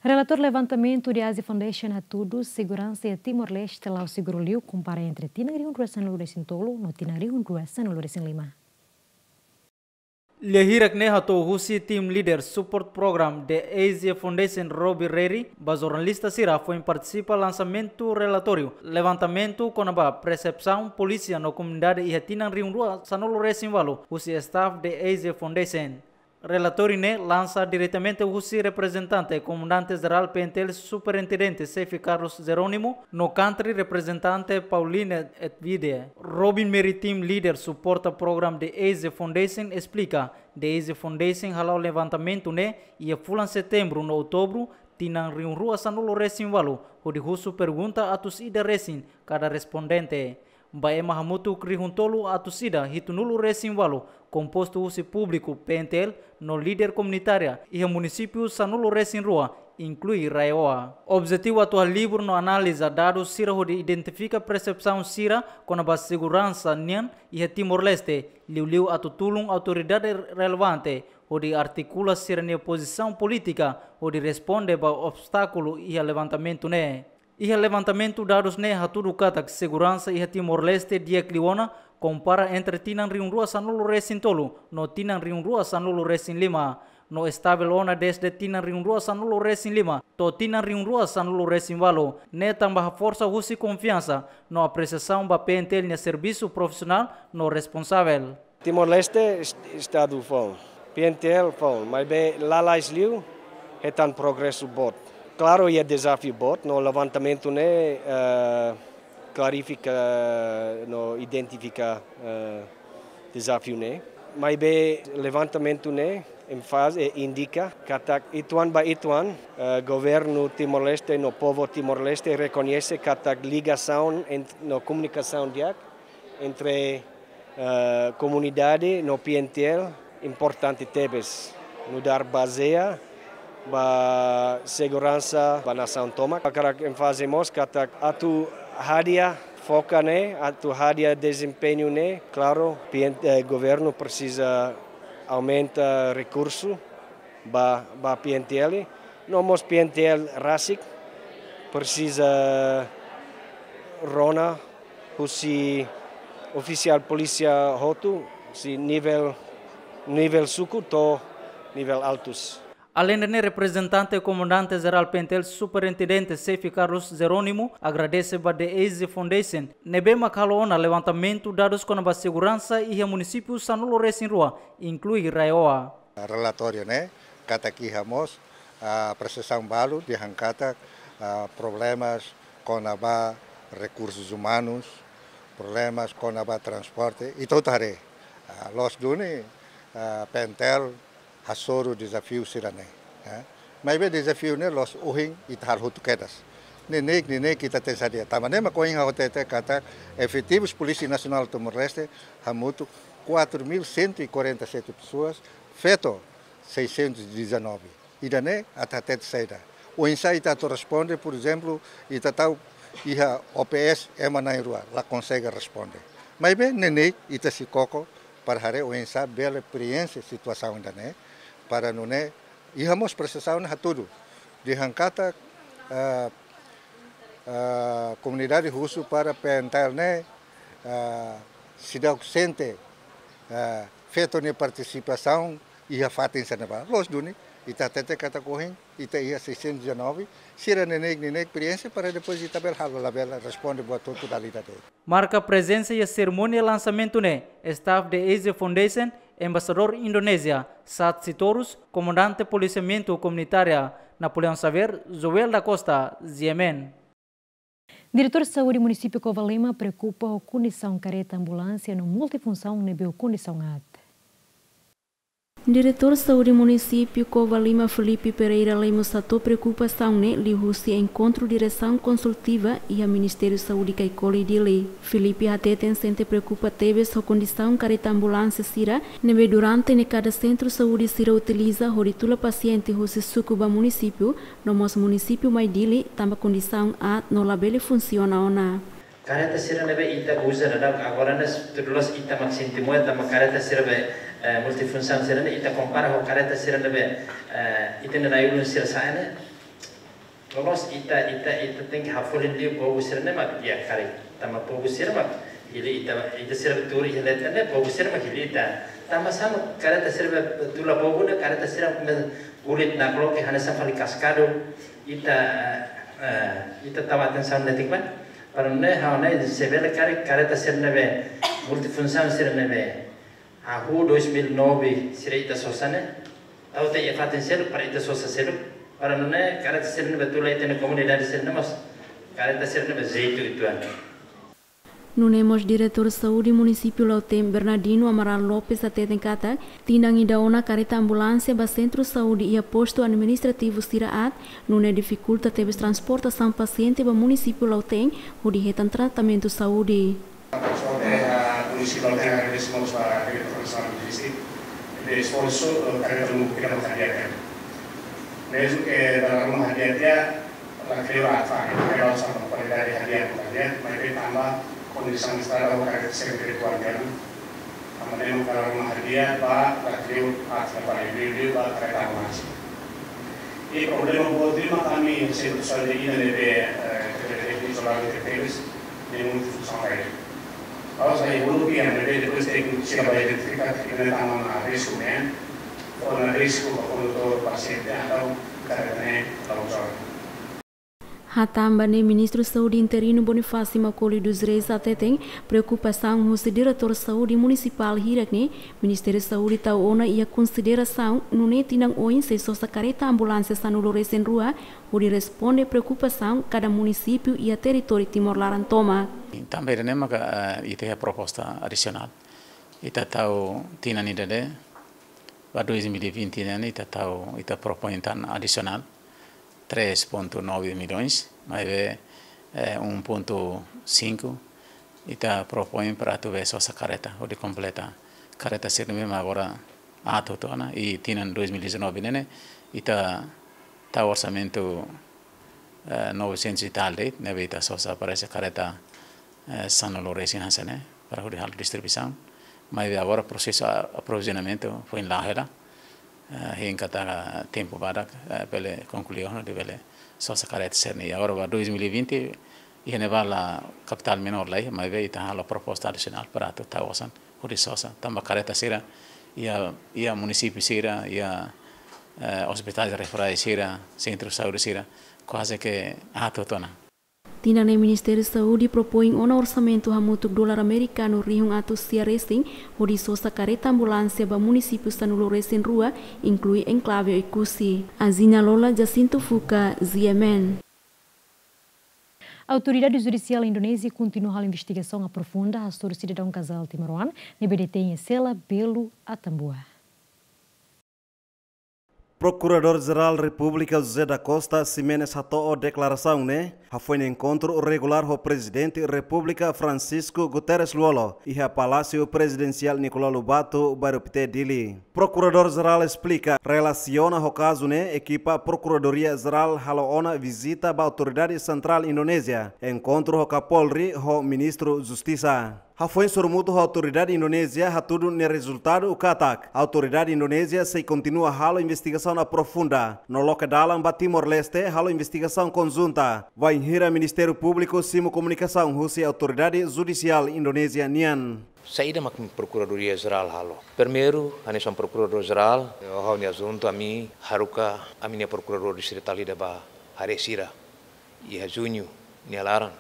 Relatóriu levantamentu de Asia Foundation hatudu seguransa iha Timor-Leste la'o seguru liu kompara entre tinan rihun rua sanulu resin tolu no tinan rihun rua sanulu resin lima. Lia hirak ne'e hato'o husi Team Leader Support Program de Asia Foundation Robbie Reri ba jornalista sira foin partisipa lansamentu relatóriu levantamentu kona-ba persepsaun polísia no komunidade iha tinan rihun rua sanulu resin ualu husi staff de Asia Foundation. Relatóriu ne'e lansa diretamente husi reprezentante Komandante Jerál P N T L Superintendente Xefe Carlos Jerónimo no Country Representante Pauline Edwide. Robin Mary, Team Leader Support Program de Asia Foundation, esplika, de Asia Foundation hala'o levantamentu ne'e iha fulan Setembru no Outubru tinan rihun rua sanulu resin ualu, hodi husu pergunta atus ida resin kada respondente. Ba ema hamutuk rihun tolu atus ida hitunulu resin ualu, kompostu husi públiku, P N T L, no líder komunitária iha munisípiu sanulu resin rua, inklui RAEOA. Objetivu atu halibur no analiza dadus sira hodi identifika persepsaun sira kona-ba seguransa nian iha Timor-Leste, liuliu atu tulun autoridade relevante hodi artikula sira-nia pozisaun polítika hodi responde ba obstákulu iha levantamentu ne'e. Iha levantamentu dadus ne'e hatudu katak seguransa iha Timor-Leste di'ak liu ona kompara entre tinan rihun rua sanulu resin tolu no tinan rihun rua sanulu resin lima, no estavel ona dezde tinan rihun rua sanulu resin lima to'o tinan rihun rua sanulu resin ualu, ne'e tanba haforsa husi konfiansa no apresiasaun ba P N T L nia servisu profisionál no responsavel. Timor-Leste est-, estadu foun, P N T L foun, maibé lalais liu hetan progresu boot. Klaru, iha dezafiu boot, no levantamentu ne'e, eh, klarifika no identifika, eh, dezafiu ne'e. Maibé levantamentu ne'e enfaze, eh, indika katak ituan ba ituan, eh, governu Timor-Leste no povu Timor-Leste rekoñese katak ligasaun ent-, no komunikasaun di'ak entre, eh, komunidade no P N T L importante tebes. Nu'udar bazeia ba seguransa ba nasaun tomak. Hakarak enfaze mós katak atu hadi'a foka ne'e, atu hadi'a dezempeñu ne'e, klaru, P N, eh, governu presiza aumenta rekursu ba, ba P N T L. No mós P N T L rasik presiza rona husi Ofisiál polísia hotu, husi nivel, nivel suku to'o nivel altus. Aleinde ne'e, reprezentante Komandante Jerál PNTL, Superintendente Xefe Carlos Jerónimo, agradese ba The Easy Foundation ne'ebé mak halo ona levantamentu dadus kona-ba seguransa iha munisípiu sanulu-resin-rua, inklui RAEOA. Relatóriu ne'e katak iha mós, ah, apresiasaun balu dehan katak, ah, problemas kona-ba rekursus umanus, problemas kona-ba transporte, ita hotu haree. Ah, loos duni, ah, PNTL hasoru dezafiu sira-ne'e, eh. Maibé dezafiu ne'e la'ós ohin ita halo hotu kedas. Neineik, neineik ita tenke sadia. Tanba ne'e mak ohin ha'u hatete katak efetivus Polísia Nasionál Timor-Leste hamutuk quatro mil cento e quarenta e sete pessoas, feto seiscentos e dezanove. Ida-ne'e atu hatete saida? Oinsá ita atu responde, por ezemplu, ita tau iha O P S ema na'in-rua, la konsege responde. Maibé neineik ita sei koko para haree oinsá bele preenxe situasaun ida-ne'e, para nune'e iha mós apresiasaun hatudu. Dehan katak, eh, eh, komunidade husu para PNTL ne'e, eh, seidauk sente, eh, feto nia partisipasaun iha fatin sira-ne'ebá. Loos duni, ita hatete katak ohin ita iha seiscentos e dezanove, sira neineik, neineik preenxe para depois ita bele halo, labele responde buat hotu dala ida de'it. Marka prezensa iha serimónia lansamentu ne'e, staff The Easy Foundation, Embaixadór Indonézia, Sat Sitorus, Komandante Polisiamentu Komunitária, Napoleão Xavier, Joel da Costa, G M N. Diretór Saúde Munisípiu Covalima preokupa ho kondisaun kareta ambulánsia no multifunsaun ne'ebé ho kondisaun aat. Diretór Saúde Munisípiu Covalima, Filipe Pereira Lemos, hato'o preokupasaun ne'e liuhusi enkontru diresaun konsultiva iha Ministériu Saúde Caicoli, Dili. Filipe hateten sente preokupa tebes ho kondisaun kareta ambulánsia sira ne'ebé durante ne'e kada sentru saúde sira utiliza hodi tula pasiente husi suku ba munisípiu, no mós munisípiu mai Dili, tanba kondisaun aat no labele funsiona ona. Kareta sira ne'ebé ita uza daudaun agora ne'e, tuir loloos ita mak sente moe, tanba kareta sira be, eh, multifunsaun sira-ne'e ita kompara ho kareta sira ne'ebé, eh, ita-nia na'i-ulun sira sa'e ne'e. Loloos ita, ita, ita tenke hafolin liu povu sira-ne'e mak di'ak karik. Tanba povu sira mak hili ita, ita sira tuur iha leten ne'e, povu sira mak hili ita. Tanba sá mak kareta sira be tula povu ne'e, kareta sira be kulit nakloke hanesan fali kaskadu. Ita, eh, ita tau atensaun netik ba. Para nune'e ha'u hanoin se bele karik kareta sira ne'ebé multifunsaun sira ne'ebé hahú dois mil e nove sira ita sosa ne'e, tau tiha iha fatin seluk para ita sosa seluk. Para nune'e kareta sira ne'ebé tula ita-nia komunidade sira-ne'e mós kareta sira ne'ebé jeitu uitoan. Nune'e mós Diretór Saúde Munisípiu Lautém, Bernardino Amaral Lopes, hateten katak tinan ida ona kareta ambulánsia ba sentru saúde iha postu administrativu sira aat, nune'e difikulta tebes transportasaun pasiente ba munisípiu Lautém hodi hetan tratamentu saúde. Transporte, ah, munisípiu Lautém agradese mós ba Diretór Saúde Munisípiu, ne'ebé esforsu, eh, kareta lubuk ida maka di'ak. Mezmu ke dala ruma hadi'a tiha, la kleur aat fali, ke la uza kualidade hadi'a, bukan hadi'a, maibé tanba kondisaun estrada ho kareta sira ne'e kuat, tanba ne'e mak dala ruma hadi'a ba la kleur aat fali, liuliu ba kareta ambulánsia. I problema boot liu mak ami sentru saúde ida ne'ebé, eh, tebes, izoladu tebes, ne'e multifunsaun lae. Ha'u sai uluk iha ne'ebé depois tékniku sira bá identifika katak ne'e tama ona risku nian, ona risku ba kondutór, pasiente, entaun kareta ne'e la uza. Hatán ba ne'e, Ministru Saúde interinu Bonifácio Macaulay dos Reis hateten preokupasaun husi Diretór Saúde Munisipál hirak ne'e, Ministériu Saúde tau ona iha konsiderasaun, nune'e tinan oin sei sosa kareta ambulánsia sanulu-resin-rua hodi responde preokupasaun kada munisípiu iha territóriu Timor laran tomak. Tanba ida-ne'e maka, eh, ita iha proposta adisionál. Ita tau tinan ida-ne'e, ba dois mil e vinte ne'e, ita tau, ita propoin tan adisionál três ponto nove milhões, maibé, eh, um ponto cinco, ita propoin para atu bele sosa kareta, hodi kompleta kareta sira ne'ebé mak agora aat hotu ona, i tinan dois mil e dezanove ne'e, ita tau orsamentu, eh, novecentos e tal de'it, ne'ebé ita sosa parese kareta, eh, sanulu-resin hanesan ne'e, para hodi halo distribuisaun. Maibé agora prosesu a-, aprovizionamentu foin la'o hela, eh, hein katak tempu badak, eh, bele konklui ona hodi bele sosa kareta sira-ne'e. Agora ba dois mil e vinte, Iha ne'ebá la kapitál menór lai, maibé ita halo proposta adisionál para atu tau osan hodi sosa. Tanba karreta sira iha, iha munisípiu sira, iha, eh, ospitál referál sira, sentru saúde sira, kuaze ke atu tona. Tinan ne'e Ministériu Saúde propoin ona orsamentu hamutuk dolar amerikanu rihun atus sia resin, hodi sosa karreta ambulánsia ba munisípiu sanulu resin rua, inklui enklave Oekusi. Azina Lola, Jacinto Fuca, G M N. Autoridade Judisiál Indonézia kontinua halo investigasaun aprofunda hasoru sidadaun kazál timoroan ne'ebé detein iha sela belu Atambua. Prokuradór Jerál Repúblika José da Costa Ximenes hato'o deklarasaun ne'e hafoin enkontru regulár ho Prezidente Repúblika Francisco Guterres Lú-Olo iha Palásiu Prezidensiál Nicolau Lobato, Bairru Pité, Dili. Prokuradór Jerál esplika, relasiona ho kazu ne'e, ekipa Prokuradoria Jerál halo ona vizita ba Autoridade Sentrál Indonézia, enkontru ho Kapolri ho Ministru Justisa. Hafoin sorumutu ho autoridade Indonézia, hatudu nia rezultadu katak autoridade Indonézia sei kontinua halo investigasaun aprofunda no loke dalan ba Timor-Leste halo investigasaun konjunta, bainhira Ministériu Públiku simu komunikasaun husi autoridade judisiál Indonézia nian. Saida mak Prokuradoria Jerál halo? Primeiru, hanesan Prokuradór Jerál, ha'u-nia asuntu, ami haruka ami-nia prokuradór distritál ida ba haree sira iha Juñu nia laran,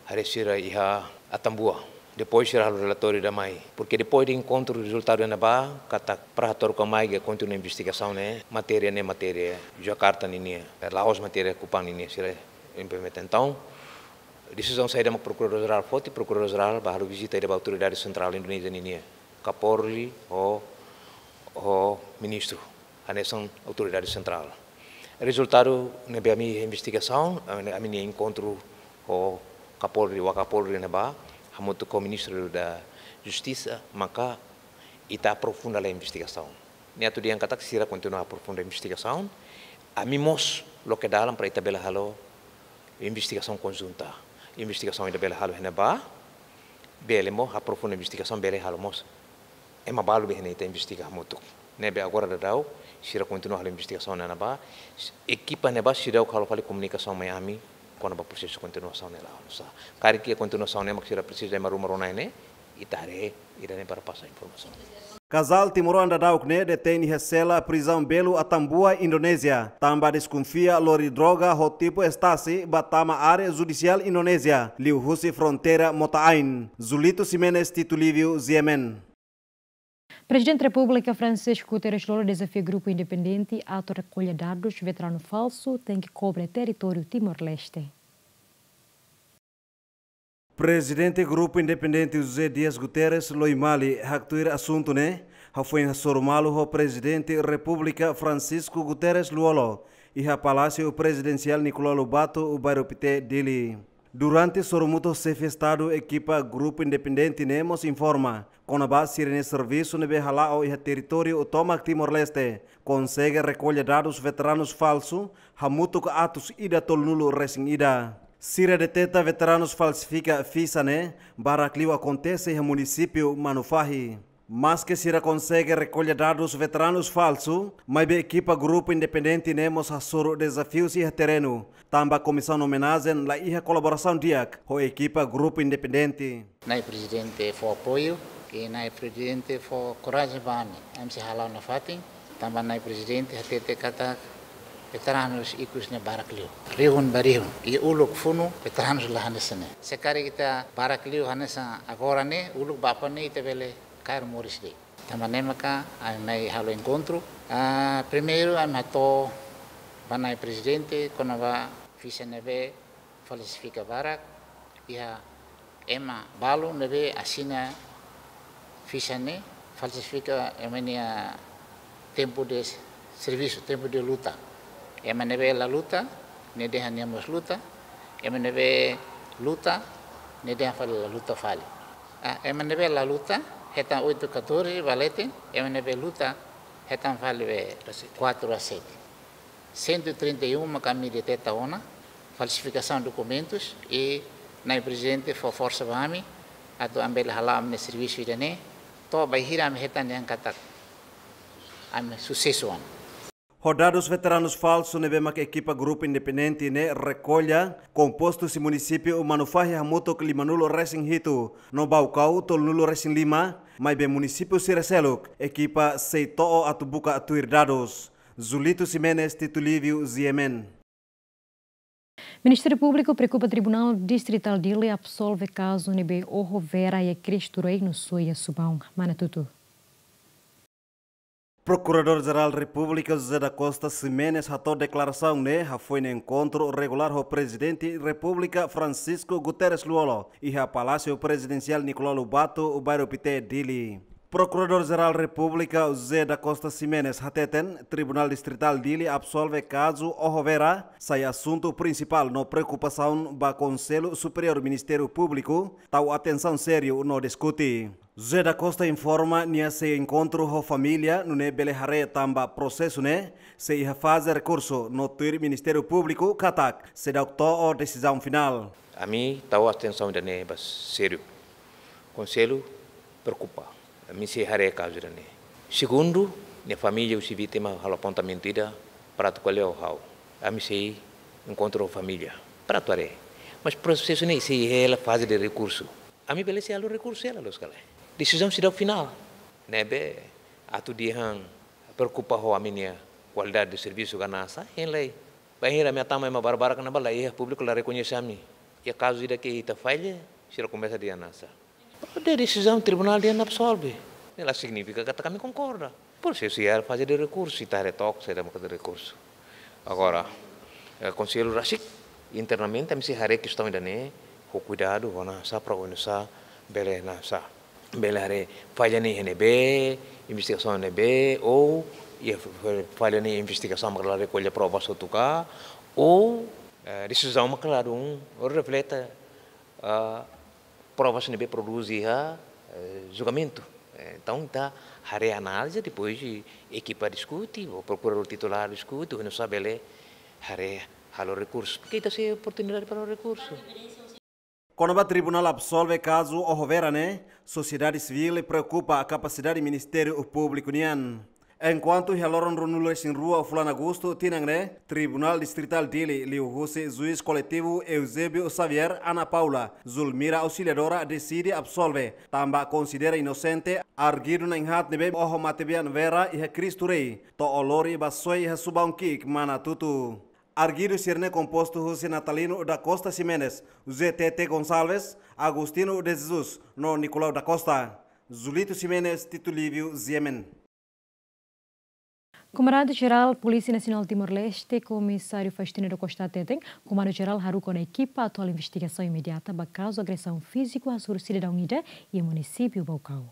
haree sira iha Atambua. Depois sira halo relatóriu ida mai. Porke depois de enkontru rezultadu iha ne'ebá, katak para hato'o ka mai ke kontinua investigasaun ne'e, matéria ne'e matéria Jakarta ninia, la'ós matéria Kupang ninia, sira implementa. Entaun, desizaun saida mak Prokuradór Jerál foti, Prokuradór Jerál bá halo vizita ida ba Autoridade Sentrál Indonézia ninia, Kapolri ho, ho Ministru, hanesan autoridade sentrál. Rezultadu ne'ebé ami investigasaun, ami, ami-nia enkontru ho Kapolri, Wakapolri ne'ebá, hamutuk ho Ministru da Justisa, maka ita aprofunda lai investigasaun. Ne'e atu dehan katak sira kontinua aprofunda investigasaun. Ami mós loke dalan para ita bele halo investigasaun konjunta. Investigasaun ida bele halo iha ne'ebá, bele mós aprofunda investigasaun, bele halo mós ema balu be ne'e ita investiga hamutuk. Ne'ebé agora daudaun sira kontinua halo investigasaun iha ne'ebá. Ekipa ne'ebá seidauk halo fali komunikasaun mai ami kona-ba prosesu kontinuasaun ne'e la oinsá. Karik iha kontinuasaun ne'e mak sira presiza ema ruma rona ne'e, ita haree ida-ne'e para pasa informasaun. Kazál timoroan daudauk ne'e detein iha sela prizaun belu Atambua, Indonézia, tanba deskonfia lori droga ho tipu estasi bá tama área judisiál Indonézia, liuhusi fronteira Mota Ain. Julito Ximenes, Tito Livio, G M N. Prezidente Repúblika Francisco Guterres Lú-Olo dezafia grupu independente atu rekolla dadus veteranu falsu tenke kobre territóriu Timor-Leste. Prezidente Grupu Independente José Dias Guterres Loi Mali haktuir asuntu ne'e hafoin hasoru malu ho Prezidente Repúblika Francisco Guterres Lú-Olo iha Palásiu Prezidensiál Nicolau Lobato, Bairru Pité, Dili. Durante sorumutu ho Xefe Estadu, ekipa Grupu Independente ne'e mós informa kona-ba sira-nia servisu ne'ebé hala'o iha territóriu tomak Timor-Leste konsege rekolla dadus veteranus falsu hamutuk atus ida tolunulu resin ida. Sira deteta veteranus falsifika fixa ne'e barak liu akontese iha munisípiu Manufahi. Maske sira konsege rekolla dadus veteranus falsu, maibé ekipa Grupu Independente ne'e mós hasoru dezafius iha terrenu, tanba Komisaun Omenajen la iha kolaborasaun di'ak ho ekipa Grupu Independente. Na'i Prezidente fó apoiu, i Na'i Prezidente fó korajen ba ami, ami sei hala'o nafatin, tanba Na'i Prezidente hatete katak veteranus ikus ne'e barak liu. Rihun ba rihun, i uluk funu veteranus la hanesan ne'e. Se karik ita barak liu hanesan agora ne'e, uluk ba aban ne'e ita bele kaer moris de'it. Tanba ne'e maka ami mai halo enkontru. Ah, primeiru ami hato'o ba Na'i Prezidente kona-ba fixa ne'ebé falsifika barak, iha ema balu ne'ebé asina fixa ne'e falsifika ema nia tempu de servisu, tempu de luta. Ema ne'ebé la luta, ne'e dehan nia mós luta. Ema ne'ebé luta, ne'e dehan fali la luta fali. Ah, ema ne'ebé la luta, hetan oito catorze ba leten, ema ne'ebé luta, hetan fali be quatro a sete. Cento e trinta e um maka ami deteta ona, falsifikasaun dokumentus, i Na'i Prezidente fó forsa ba ami, atu ami bele hala'o ami-nia servisu ida-ne'e, to'o bainhira ami hetan dehan katak ami susesu ona. Ho dadus veteranus falsu ne'ebé mak ekipa grupu independente ne'e rekolla, kompostu husi munisípiu Manufahi hamutuk limanulu-resin-hitu, no Baucau tolunulu-resin-lima, maibé munisípiu sira seluk, ekipa sei to'o atu buka tuir dadus. Zulito Ximenes, Tito Livio, G M N. Ministériu Públiku preokupa Tribunál Distritál Dili absolve kazu ne'ebé oho vera iha Cristo Rei no sua iha Subaun, Manatuto. Prokuradór-Jerál Repúblika José da Costa Ximenes hato'o deklarasaun ne'e hafoin enkontru regulár ho Prezidente Repúblika Francisco Guterres Lú-Olo iha Palásiu Prezidensiál Nicolau Lobato, Bairru Pité, Dili. Prokuradór-Jerál Repúblika José da Costa Ximenes hateten, Tribunál Distritál Dili absolve kazu oho vera sai asuntu prinsipál no preokupasaun ba Konsellu Superiór Ministériu Públiku, tau atensaun sériu no diskute. José da Costa informa nia sei enkontru ho família, nune'e bele haree tanba prosesu ne'e sei iha faze rekursu, no tuir Ministériu Públiku katak seidauk to'o desizaun finál. Ami tau atensaun ida-ne'e ba sériu. Konsellu preokupa. Ami sei haree kazu ida-ne'e. Segundu, nia família husi vítima halo apontamentu ida para atu ko'alia ho ha'u. Ami sei enkontru ho família para atu haree. Mas prosesu ne'e sei hela faze de rekursu. Ami bele sei halo rekursu hela loos ka lae. Desizaun seidauk finál. Ne'ebé atu dehan preokupa ho ami-nia kualidade de servisu ka nasa, hein lai. Bainhira ami hatama ema barbarak ne'ebá la iha, públiku la rekoñese ami. Iha kazu ida ke ita falla, sira komesa dehan nasa. De desizaun tribunál dehan absolve. Ne'e la signifika katak ami konkorda. Prosesu iha faze de rekursu, ita haree took saida maka de rekursu. Agora, eh, Konsellu rasik, internamente, ami sei haree kestaun ida-ne'e, ho kuidadu, ho nasa, para oinsá bele nasa. Bele haree falla ne'e iha ne'ebé, investigasaun ne'ebé, ou iha f-, f-, falla ne'e investigasaun maka la rekolla provas hotu ka, ou, eh, desizaun maka la dún, ou reflete, ah, provas ne'ebé prodús iha, eh, julgamentu. Eh, entaun, ita haree análize, depois ekipa diskute, ou prokuradór titulár diskute, oinsá bele haree halo rekursu. Porque ita sei oportunidade para rekursu. Kona-ba tribunál absolve kazu oho vera ne'e, sosiedade sivíl preokupa kapasidade Ministériu Públiku nian. Enkuantu iha loron ruanulu-resin-rua fulan Agostu tinan ne'e, Tribunál Distritál Dili liuhusi Juís Koletivu Eusébio Xavier, Ana Paula, Zulmira Auxiliadora deside absolve, tanba konsidera inosente arguidu na'in-haat ne'ebé oho matebian vera iha Cristo Rei, to'o lori ba soe iha Subaun ki'ik, Manatuto. Arguidu sira-ne'e kompostu husi Natalino da Costa Ximenes, José Tete Gonçalves, Agostinho de Jesus, no Nicolau da Costa. Zulito Ximenes, Tito Livio, G M N. Komandante-Jerál Polísia Nasionál Timor-Leste, Komisáriu Faustino da Costa hateten, Komandu-Jerál haruka ona ekipa atu halo investigasaun imediata ba kazu agresaun fíziku hasoru sidadaun ida iha munisípiu Baucau.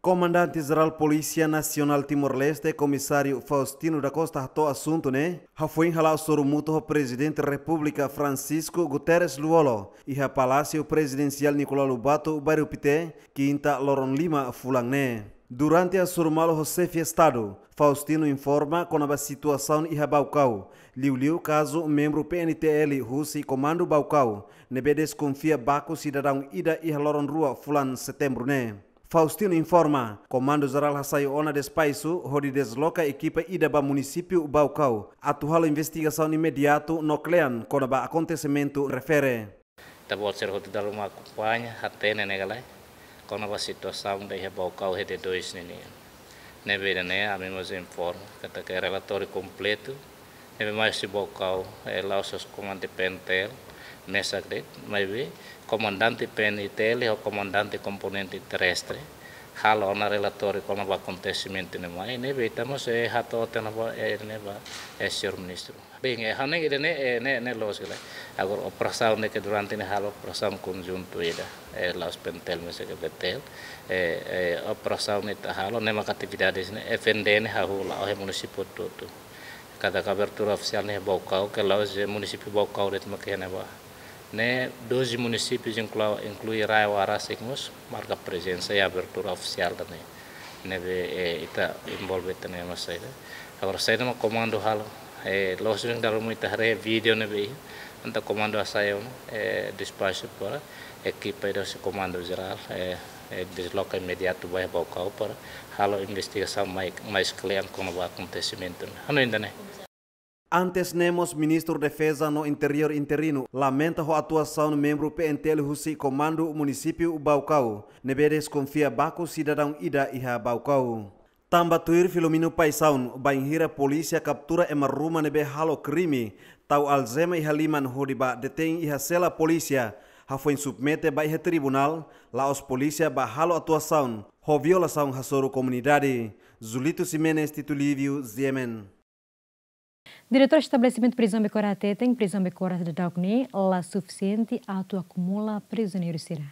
Komandante-Jerál Polísia Nasionál Timor-Leste, Komisáriu Faustino da Costa hato'o asuntu ne'e hafoin hala'o sorumutu ho Prezidente Repúblika Francisco Guterres Lú-Olo iha Palásiu Prezidensiál Nicolau Lobato, Bairru Pité, Kinta, loron lima fulan ne'e. Durante hasoru malu ho Xefe Estadu, Faustino informa kona-ba situasaun iha Baucau, liuliu kazu membru P N T L husi Komandu Baucau ne'ebé deskonfia baku sidadaun ida iha loron rua fulan Setembru ne'e. Faustino informa, Komandu-Jerál hasai ona despaisu hodi desloka ekipa ida ba munisípiu Baucau atu halo investigasaun imediatu no kle'an kona-ba akontesimentu refere. Ita-boot sira hotu dala ruma akompaña, hatene ne'e ka lae, kona-ba situasaun ida iha Baucau RT dois ninian. Ne'ebé ida-ne'e ami mós informa katak relatóriu kompletu, ne'ebé mai husi Baucau, eh, la'ós husi komandante P N T L mesak de'it, maibé komandante P N T L ho komandante komponente terrestre halo ona relatóriu kona-ba akontesimentu ne'e mai, ne'ebé ita mós, eh, hato'o tiha ona ba, eh, ne'e ba, eh, señór ministru. Bem, eh, ha'u hanoin ida-ne'e, eh, ne'e, ne'e loos ka lae. Agora operasaun ne'e ke durante ne'e halo operasaun konjuntu ida, eh, la'ós P N T L maibé ke B T L, eh, eh, operasaun ne'e ita halo, ne'e maka atividade ne'e, F N D ne'e hahú la'o iha munisípiu hotu-hotu. Katak abertura ofisiál ne'e Baucau, ke la'ós iha munisípiu Baucau de'it maka iha ne'ebá. Ne'e doze munisípius inklui, inklui RAEOA rasik mós marka prezensa iha abertura ofisiál ida-ne'e. Ne'ebé, eh, ita envolve tiha ona iha mós saida. Agora saida mak komandu halo, eh, loos duni dala ruma ita haree vídeo ne'ebé iha, entaun komandu hasai ona, eh, despaxu para Ekipa ida husi Komandu Jerál, eh, eh, desloka imediatu ba iha Baucau para halo investigasaun mai, mais klean kona-ba akontesimentu ne'e. Hanoin ida-ne'e. Antes ne'e mós Ministru Defeza no Interiór interinu lamenta ho atuasaun membru P N T L husi Komandu Munisípiu Baucau, ne'ebé deskonfia baku sidadaun ida iha Baucau. Tanba tuir Filomeno Paixão, bainhira polísia kaptura ema ruma ne'ebé halo krime, tau aljema iha liman hodi ba detein iha sela polísia, hafoin submete ba iha tribunál, la'ós polísia ba halo atuasaun ho violasaun hasoru komunidade. Julito Ximenes, Tito Lívio, G M N. Diretór Estabelesimentu Prizaun Becora hateten, prizaun Becora daudaun ne'e la sufisiente atu akumula prizioneiru sira.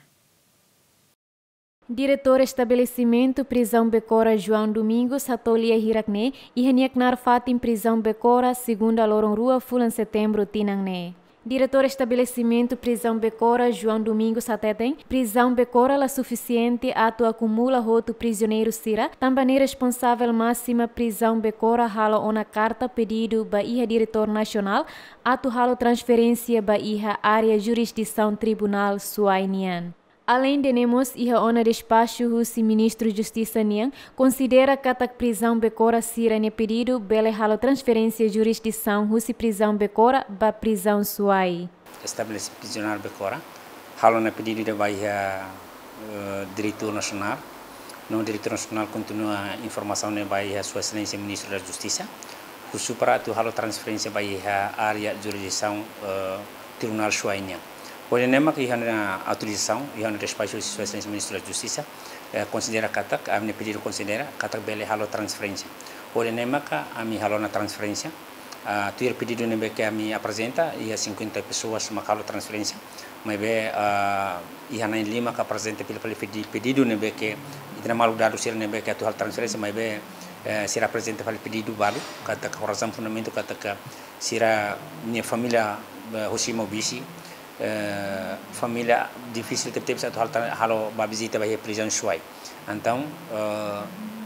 Diretór Estabelesimentu Prizaun Becora João Domingos hato'o lia hirak ne'e iha nia knaar fatin Prizaun Becora, segunda loron rua fulan Setembru tinan ne'e. Diretór Estabelesimentu Prizaun Becora João Domingos hateten, Prizaun Becora la sufisiente atu akumula hotu prizioneiru sira, tanba nia responsavel másima Prizaun Becora halo ona karta pedidu ba iha Diretór Nasionál atu halo transferénsia ba iha área jurisdisaun Tribunál Suai nian. Aleinde ne'e mós iha ona despaxu husi Ministru Justisa nian, konsidera katak Prizaun Becora sira-nia pedidu bele halo transferénsia jurisdisaun husi Prizaun Becora ba Prizaun Suai. Estabelese Prizionál Becora halo ona pedidu ida ba iha, eh, Diretór Nasionál. No Diretór Nasionál kontinua informasaun ne'e ba iha Sua Exelénsia Ministru da Justisa, husu para atu halo transferénsia ba iha área jurisdisaun, eh, Tribunál Suai nian. Hodi ne'e mak iha ona autorizasaun, iha ona despaxu husi Sua Exelénsia Ministru da Justisa, eh, konsidera katak, ami-nia pedidu konsidera katak bele halo transferénsia. Hodi ne'e mak ami halo ona transferénsia. Ah, tuir pedidu ne'ebé ke ami aprezenta, iha cinquenta pessoas mak halo transferénsia. Maibé, ah, iha na'in lima ke aprezenta fila fali pedi-, pedidu ne'ebé ke, ita-nia maluk dadus sira ne'ebé ke atu halo transferénsia, maibé, eh, sira aprezenta fali pedidu balu, katak ho razaun fundamentu katak sira-nia família, eh, husi Maubisse, eh, família difisil tebetebes atu halo tra-, halo ba vizita ba iha Prizaun Suai. Entaun, eh,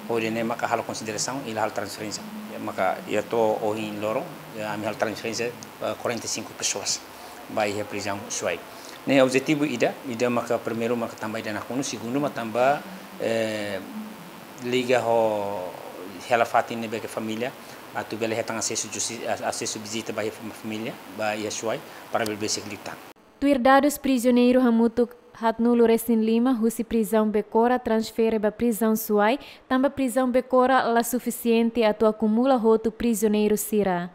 hodi ne'e maka halo konsiderasaun i la halo transferénsia. Maka iha to'o ohin loron, eh, ami halo transferénsia, eh, quarenta e cinco pessoas ba iha Prizaun Suai. Ne'e objetivu ida, ida maka primeiru maka tanba ida nakonu, segundu maka tanba, eh, liga ho hela fatin ne'ebé ke família atu bele hetan asesu justi-, a-, asesu vizita ba iha fam-, família, ba iha Suai, para bele besik liután. Tuir dadus, prizioneiru hamutuk haatnulu resin lima husi Prizaun Becora transfere ba Prizaun Suai, tanba Prizaun Becora la sufisiente atu akumula hotu prizioneiru sira.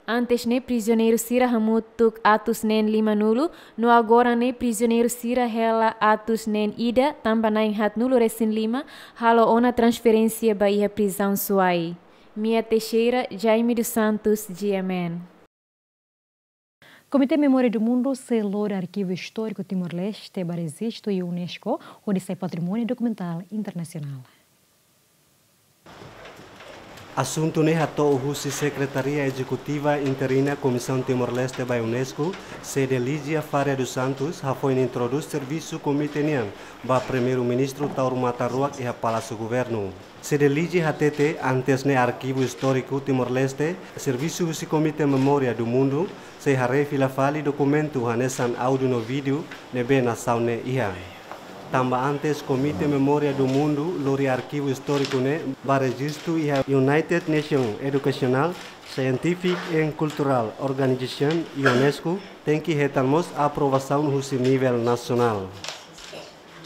Antes ne'e prizioneiru sira hamutuk atus neen limanulu, no agora ne'e prizioneiru sira hela atus neen ida, tanba na'in haatnulu resin lima halo ona transferénsia ba iha Prizaun Suai. Mia Teixeira, Jaime dos Santos, G M N. Komité Memória do Mundo sei lori Arkivu Istóriku Timor-Leste ba rejistu iha UNESCO, hodi sai patrimóniu dokumentál internasionál. Asuntu ne'e hato'o husi Sekretaria Ezekutiva Interina Komisaun Timor-Leste ba UNESCO, Cedelígia Faria dos Santos, hafoin introdús servisu komité nian ba Primeiru-Ministru Taur Matan Ruak iha Palásiu Governu. Cedelígia hatete, antes ne'e Arkivu Istóriku Timor-Leste, servisu husi Komité Memória do Mundo, sei haree fila fali dokumentu hanesan áudiu no vídeo ne'ebé nasaun ne'e iha. Tanba antes Komité Memória do Mundo lori Arkivu Istóriku ne'e ba rejistu iha United Nations Educational, Scientific and Cultural Organization, UNESCO, tenke hetan mós aprovasaun husi nivel nasionál.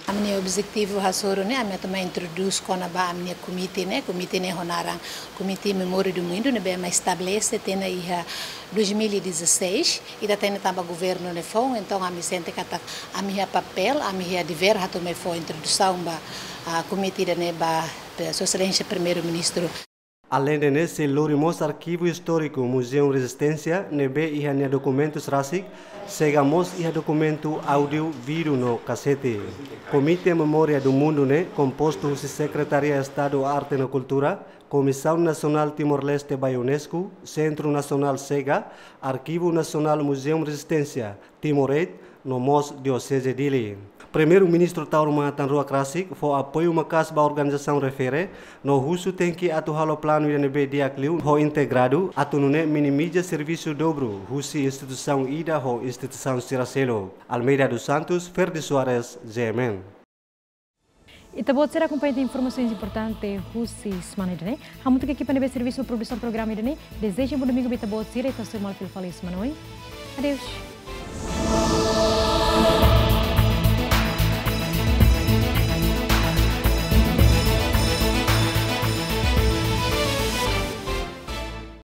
Ami-nia objetivu hasoru ne'e, ami atu mai introdús kona-ba ami-nia komité ne'e, komité ne'e ho naran Komité Memória do Mundo, ne'ebé mai estabelese tiha ona iha dois mil e dezasseis, ita hatene tanba governu nia foun, entaun ami sente katak ami iha papél, ami iha devér atu mai fó introdusaun ba, ah, komité ida-ne'e ba, ba Sua Exelénsia Primeiru-Ministru. Aleinde ne'e sei lori mós Arkivu Istóriku Muzeu Rezisténsia, ne'ebé iha nia dokumentus rasik, sega mós iha dokumentu áudiu, vídeo no kasete. Komité Memória do Mundo ne'e kompostu husi Sekretaria Estadu Arte no Kultura, Komisaun Nasionál Timor-Leste ba UNESCO, Sentru Nasionál Sega, Arkivu Nasionál Muzeu Rezisténsia, Timor Aid, no mós Dioseze Dili. Primeiru-Ministru Taur Matan Ruak Rasik fó apoiu maka'as ba organizasaun refere, no husu tenke atu halo planu ida ne'ebé di'ak liu ho integradu, atu nune'e minimiza servisu dobru husi instituisaun ida ho instituisaun sira seluk. Almeida dos Santos, Ferdi Soares, G M N. Ita-boot sira akompaña informasaun importante husi semana ida-ne'e. Hamutuk ho ekipa ne'ebé servisu produsaun programa ida-ne'e, dezeja bom domingu ba ita-boot sira, ita sei hasoru malu fila fali semana oin. Adeus.